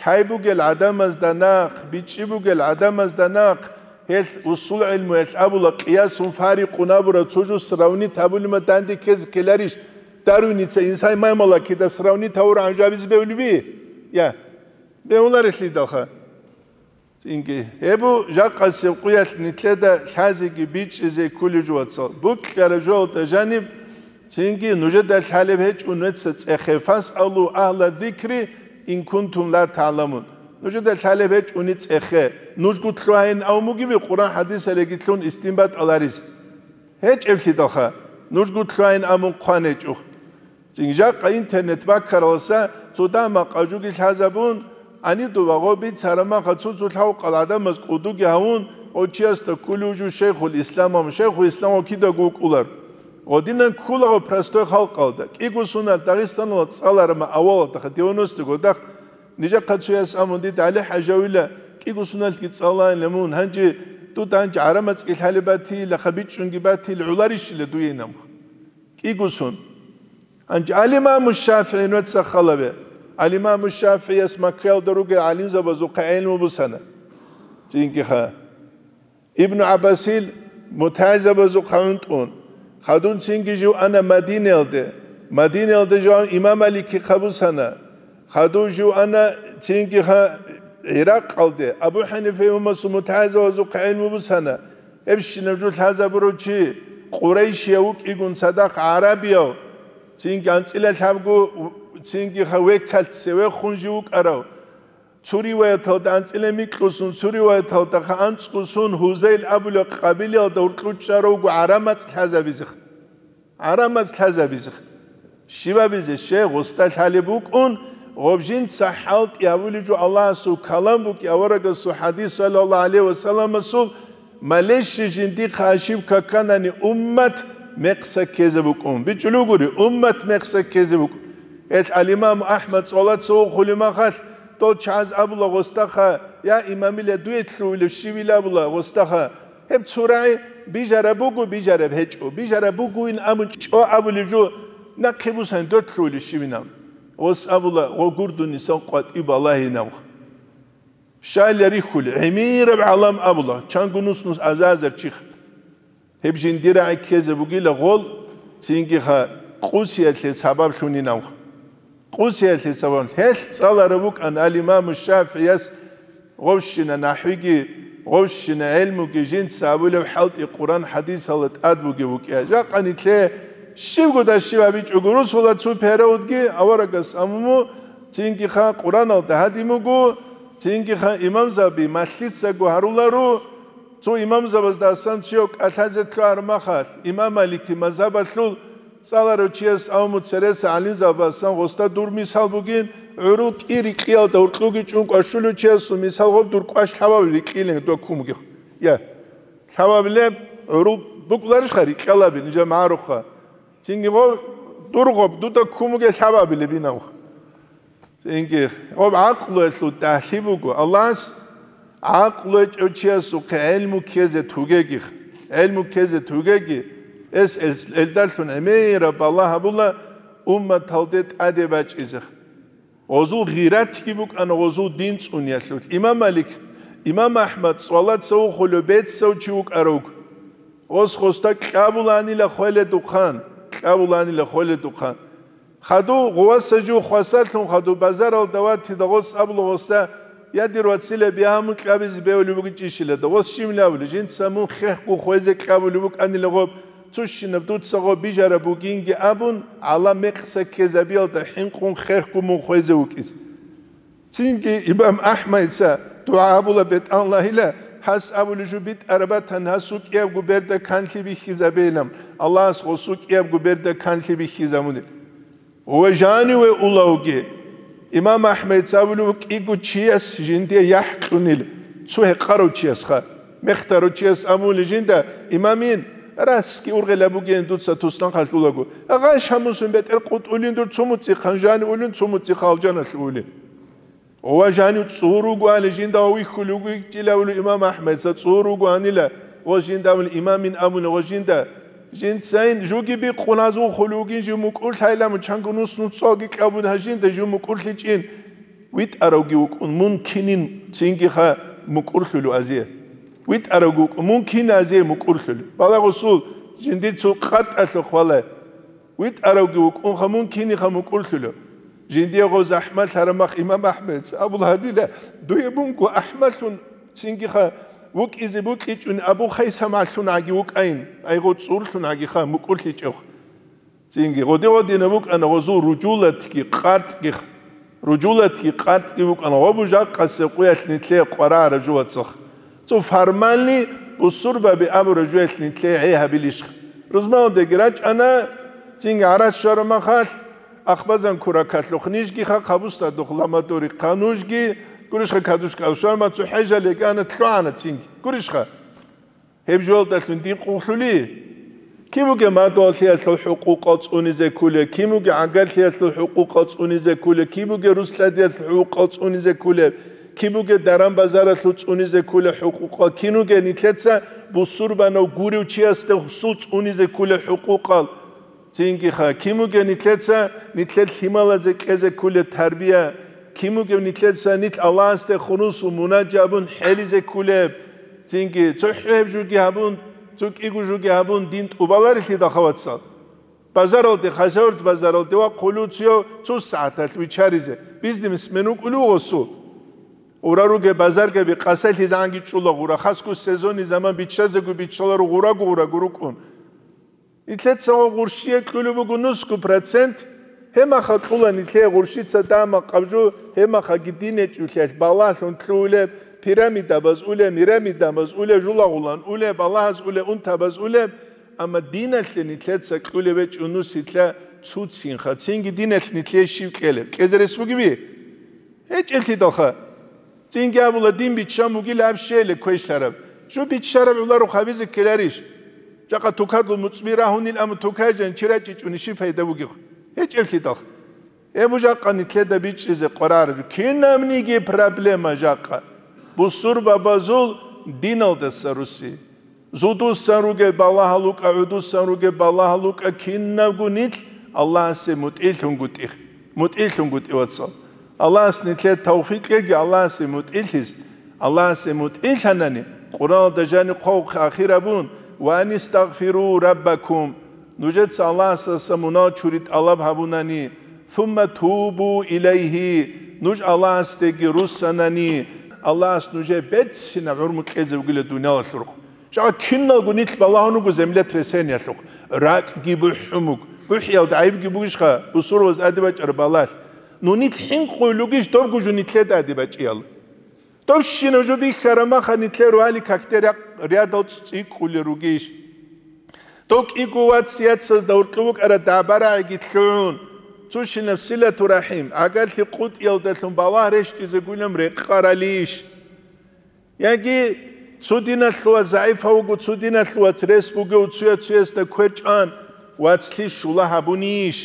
лъай бугел гӀадамазда нахъ, бичӀчӀи бугел гӀадамазда нахъ, гьелъ усул гӀилмуялъ абула, къиясун фарикъун абураб цо жо сравнить гьабулима данде ккезе ккеларищ, Дарвиница инсан маймалакида сравнить гьавурагӀан жо абизе бегьулеби? Я, бегьуларелъидалха. Цинги, гьеб бу жакъасеб къуялъ нилъеда лъазеги бичӀчӀизе кколеб жо, вацал. Букьараб жоялда жаниб, цинги нужеда лъалеб гьечӀо нугьеца цӀехе, «Фасъалу агьла зикри ин кунтум ла та'ламун». Нужеда лъалеб гьечӀони цӀехе, нужго лъугьайин абун бугеби Къуръан хӀадисалиги лъун истинбатӀ аларизе? ГьечӀеблъидалха, нужго лъугьайин абун хъван гьечӀо. Цинги жакъа интернет баккаралдаса цо дагьа-макъа жоги лъазабун, гьаниб дова гъо бицараб махалъ цо-цо лъавкъал гӀадамаз кӀудуги гьавун, гъо чиясда кколев жо Шайхул Исламав, Шайхул Исламав кидаго вукӀулар. Гъодинан кколаго простой халкъалда, кӀиго соналъ Дагъистаналда цӀалараб ма авалалдаха, девяностые годах, нижахъа цояс абун дида, ГӀали-хӀажи, авила, кӀиго соналъги цӀалайила мун, гьанже дуда гьанже гӀарамацӀги лъалеб батила, ха бичӀчӀунги батила, гӀоларищила дуе инамха? КӀиго сон. Гьанже Алимаму ШафигӀи нугьеца халаве. Алимаму ШафигӀияс Маккаялда ругел гӀалимзабазухъе гӀелму бусана. Цинги ха. Ибну ГӀаббасил мутагӀилзабазухъа гӀунтӀун. Хадун цинги жив ана Мадинаялде. Мадинаялда жив имам Маликихъа бусана. Хадув жив ана цинги ха ГӀиракъалде, Абу ХӀанифа имамасул мутагӀилзабазухъе гӀелму бусана. Гьебщинаб жо лъазабурав чи, къурайшияв вукӀигун цадахъ гӀарабияв, цинги анцӀила лъабго, цинги ха векалъ цевехун жив вукӀарав. Цо риваяталда анцӀила микьусун, цо риваяталда ха анцӀгусун Гьузайл абулеб къабилаялда уркьучӀаравго гӀарамацӀ лъазабизеха. ГӀарамаз лъазабизе. Щибабизе? Щай, гъосда лъалеб букӀун, гъоб жинца хӀалтӀи гьабулеб жо Аллагьасул калам букӀи, аварагасул хӀадис, саллаллагьу гӀалайгьи ва салламасул, малещи жиндихъа ошибка кканани уммат, мекъса ккезе букӀун. БичӀчӀулугури, уммат мекъса ккезе букӀун. Гьел гӀалимам АхӀмад цӀолаца вухулев махалъ, дол чагӀаз абула гъосдаха: «Я имамила, дуе лъугьулев щивила?» абула гъосдаха. Гьеб цо рагӀи бижараб буго, бижараб гьечӀо, бижараб бугойин абун чӀо абулев жо, нахъе бусани, дой лъугьулев щивинав? Гъос абула: «Гъо гурдунисан къватӀив балагьинавха». Щайила рихьулел, гӀемераб гӀалам абула, чанго нус-нус азазар чиха. Гьеб жиндир рагӀи ккезе бугила гъол, цинги-ха къусиялъе сабаблъунинавха. Къусиялъе сабаблъун. Гьелъ цӀаларав вукӀан ал-Имаму ШафигӀияс гъовщина нахӀвиги, гъовщина гӀелмуги жинца абулеб хӀалтӀи Къуран-хӀадисалда тӀад бугев вукӀине. Жакъа нилъее щибго дашив гьабичӀого русула цо периодги аварагас амуму, цинги-ха Къураналда гьадин буго, цинги-ха имамзаби малъицаго гьаруларо, цо имамзабаздасан цояв кӀалъазе лъугӀараб махалъ, имам Малики мазгьабалъул цӀаларав чияс авму цереса гӀалимзабаздасан гъосда дур мисал бугин, гӀурул кӀи рикьиялда гьоркьуги чӀун кӀвашулев чиясул мисал гъоб дур кӀваш лъабаб рикьилин дуда ккун бугех. Я, лъабабилеб гӀурул букӀларищха рикьалаби, нижа магӀаруха. Цинги гъоб дур гъоб дуда ккун бугел лъабабилеб инавха. Цинги гъоб гӀакълуялъул дагьлъи буго. Аллагьас гӀакълу гьечӀев чиясухъе гӀелму ккезе тугеги, гӀелму ккезе тугеги, эс, эс, элдалъун гӀемераб балагь гьабула умматалде тӀаде бачӀизе. Гъозул гъиратги букӀана гъозул дин цӀуниялъулъ. Имам Малик, имам АхӀмад цӀолаца вухулев бецав чи вукӀарав. Гъос гъосда кьабуланила хвеледухъан, кьабуланила хвеледухъан. Хадув гъуваса жив хвасарлъун хадув базаралда ватида гъос абула гъосда: «Я, дир вацила, бигьа мун кьабизе бевулеб бугичӀищила?» Гъос щиб абули, жинца мун хехго хвезе кьабулеб букӀанила гъоб, цущинаб дуца гъоб бижараб бугинги абун, гӀалам мекъса ккезабиялда хӀинкъун хехго мун хвезе вукӀизе. Цинги имам АхӀмадица дугӀа гьабула бетӀаллагьила, гьас абулеб жо битӀараб батани, гьасул кӀиябго берда канлъи бихьизабейилан, Аллагьас гъосул кӀиябго берда канлъи бихьизабуни. Ва жаниве улавги, имам АхӀмадица абулеб кӀиго чияс жиндие яхӀ кьунил, цо гьекъарав чиясха. Мехтарав чияс абули жинда: «Имамин, расги ургъелаб бугин дуца туснахъалъулаго. Гъай шамусун бетӀер къутӀулин дур цо муцӀихъан жани улин, цо муцӀихъ алжаналъ улин». Ва жанив цӀур руго али жинда ва вихьулев вукӀила абули имам АхӀмадица цӀур руго анила, ва жинда абули имамин абуни ва жинда, жинцайин жуги бикъуназ вухулев вугин жив мукӀурлъайламу чанго нус-нус цоги кьабун гьажинда жив мукӀурлъичӀин. ВитӀаравги вукӀун, мун кинин цинги-ха мукӀурлъулев азе. ВитӀаравги вукӀун, мун кин азе мукӀурлъулев. Балагьусул жиндир цо къатӀалъухъ валай. ВитӀаравги вукӀун, ха мун киниха мукӀурлъулев. Жиндиего захӀмалъараб мах имам АхӀмадица абула гьабила, дуе мунго ахӀмалъун цинги-ха вукӀизе букӀичӀун Абу Хайсамалъун гӀаги вукӀайин, айгъо цӀурлъун гӀагиха мукӀурлъичӀев. Цинги гъоди-гъодинаб букӀана гъозул ружулатги къартӀги. Ружулатги къартӀги букӀана гъобу жакъасеб къуялъ нилъее къварагӀараб жо, вацах. Цо формальный бусурбаби абураб жоялъ нилъее гӀей гьабилищха? Рузманалдаги рачӀана, цинги гӀарац щвараб махалъ, ахбазан куракалъухъ нижги ха, хъабустадухъ ламадури хъа нужги, гурищха кадушкал щварма цо хӀежал йигана лъугӀана цинги. Гурищха? Гьеб жоялдалъун дин къуллъули? Киб бугеб мадугьаллъиялъул хӀукъукъал цӀунизе ккулеб, киб бугеб гӀагарлъиялъул хӀукъукъал цӀунизе ккулеб, киб бугеб рус-лъадиялъул хӀукъукъал цӀунизе ккулеб, киб бугеб даран-базаралъул цӀунизе ккулеб хӀукъукъал, кин вугеб нилъеца бусурбанав гурев чиясда гьесул цӀунизе ккулеб хӀукъукъал? Цинги-ха, кин вугев нилъеца нилъер лъималазе кьезе ккулеб тарбия? Кин вугев нилъеца нилъ Аллагьасде хунусул мунажа абун хӀелизе ккулеб? Цинги, цохӀо гьеб жуги гьабун, цо кӀиго жуги гьабун, дин тӀубаларелъидал, ха, вацал. Базаралде, Хасавюрт базаралде вахъулев цо, цо сагӀаталъ виччаризе, бизнесмен вукӀулев гъосул. Гъура ругеб базаргаби къасалъизегӀанги чӀула гъура, хасго сезонный заман биччазего биччаларо гъураго-гъураго рукӀун. Нилъеца гъо гъурщие кьулеб буго нусго процент, гьеб махалъ кьула нилъее гъурщица дама къабжу, гьеб махалъги дин гьечӀолъиялъ балагьлъун лъугьулеб, пирамидабаз улеб, мирамидабаз улеб, жулагъулан улеб, балагьаз улеб, унтабаз улеб, амма диналъе нилъеца кьулеб гьечӀо нусилъа цуцинха, цинги диналъ нилъее щив кьелеб? КӀезе рес бугеби? ГьечӀелъидалха. Цинги абула, дин биччан бугила аб щейиле квешлъараб. Жо биччараб гӀоларо хабизе ккеларищ? Жакъа тукадлъун муцӀби рагьунил, амма тукай жан чи рачӀичӀони щиб пайда бугеб? ГьечӀеблъидал. Гьеб жакъа нилъеда бичӀчӀизе къваригӀараб кинабниги проблема жакъа. Бусурбабазул диналдаса руси. Зудусан ругел балагьал рукӀа, гӀудусан ругел балагьал рукӀа, кинабго нилъ Аллагьасе мутӀигӀлъунгутӀи, мутӀигӀлъунгутӀи, вацал. Аллагьас нилъер тавфикъ кьеги Аллагьасе мутӀигӀлъизе. Аллагьасе мутӀигӀлъанани, Къуръаналда жаниб хъван ахир абун: «Ва анистагъфиру раббакум», нужеца Аллагьасдаса мунагьал чури тӀалаб гьабунани, «сумма тубу илайгьи», нуж Аллагьасдеги руссанани, Аллагьас нужее берцинаб гӀумру кьезе вугила дуниялалъул рукъ. Жакъа киналго нилъ балагьун руго землетрясениялъухъ, ракӀги бухӀун буго. БухӀиялда гӀайибги бугищха, бусурбабаз тӀаде бачӀараб балагьалъ? Ну нилъ хӀинкъулел ругищ добго жо нилъеда тӀаде бачӀиялъ? Доб щинаб жо бихьараб маха нилъер рали какде рядал цӀикӀкӀулел ругищ? Доб кӀиго вац-яцазда гьоркьоб букӀараб дагӀба-рагӀиги лъугӀун, цо щинаб силату рахӀим, гӀагарлъи къотӀиялдалъун балагь рещтӀизе гуйилан рекъаралищ? Яги цо диналъул вац загӀипав вуго, цо диналъул вац рес бугев, цояв цоясда квер чӀван, вацлъи щула гьабунищ?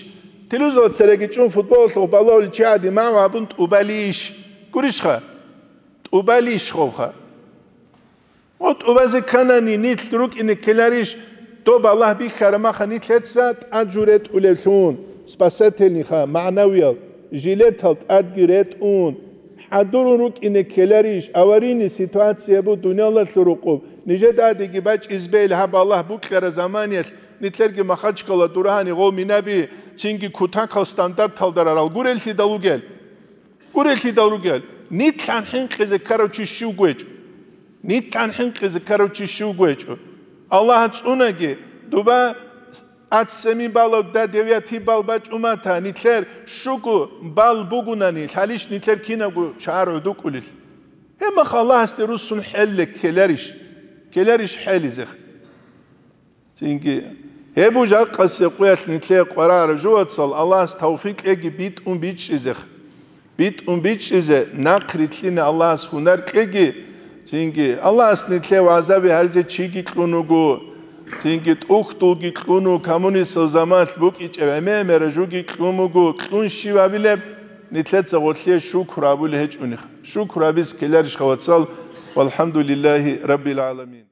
Телевизоралда цереги чӀун футболалъухъ балагьулев чи гӀадин магӀу гьабун тӀубалищ? Гурищха? ТӀубалищ хъовха? О, тӀубазе кканани, нилъ рукӀине ккеларищ, доб балагь бихьараб маха нилъеца тӀад жо ретӀулевлъун, спасательниха, магӀнавиял, жилетал тӀадги ретӀун, хӀадурун рукӀине ккеларищ, аварийный ситуация буго дуниялалъул рукъоб, нижеда тӀадеги бачӀизе бегьила гьаб балагь букьараб заманиялъ, нилъерги Махачкала дурагьани гъов минаби, цинги кутакал стандарталда рарал гуреллъидал ругел? Гуреллъидал ругел, нилъан хӀинкъизе ккарав чи щивго гьечӀо. Нилъан хӀинкъизе ккарав чи щивго гьечӀо. Аллагь цӀунаги, дуба аццеми балав да девятий бал бачӀумата, нилъер щуго бал бугунани, лъалищ нилъер кинабго шагьар гӀодукӀулел? Гьебмах Аллагьасде руссун хӀелле ккеларищ? Ккеларищ хӀелизехъ? Цинги, гьеб жакъасе къуялъ нилъее къваригӀараб жо, вацал, Аллагьас тавфикъ кьеги битӀун бичӀчӀизехъ. БитӀун бичӀчӀизе нахърилълъине Аллагьас гьунар кьеги, цинги, Аллагьас нилъее вагӀзаби гьаризе чиги кьун вуго, цинги, тӀухьдулги кьун вуго, коммунистал заманалъ букӀинчӀеб гӀемер жуги кьун буго, кьун щиб абилеб, нилъеца гъолъие шукру абулеб гьечӀони. Шукру абизе ккеларищха, вацал? Валхамдулиллагьи раббил гӀаламин.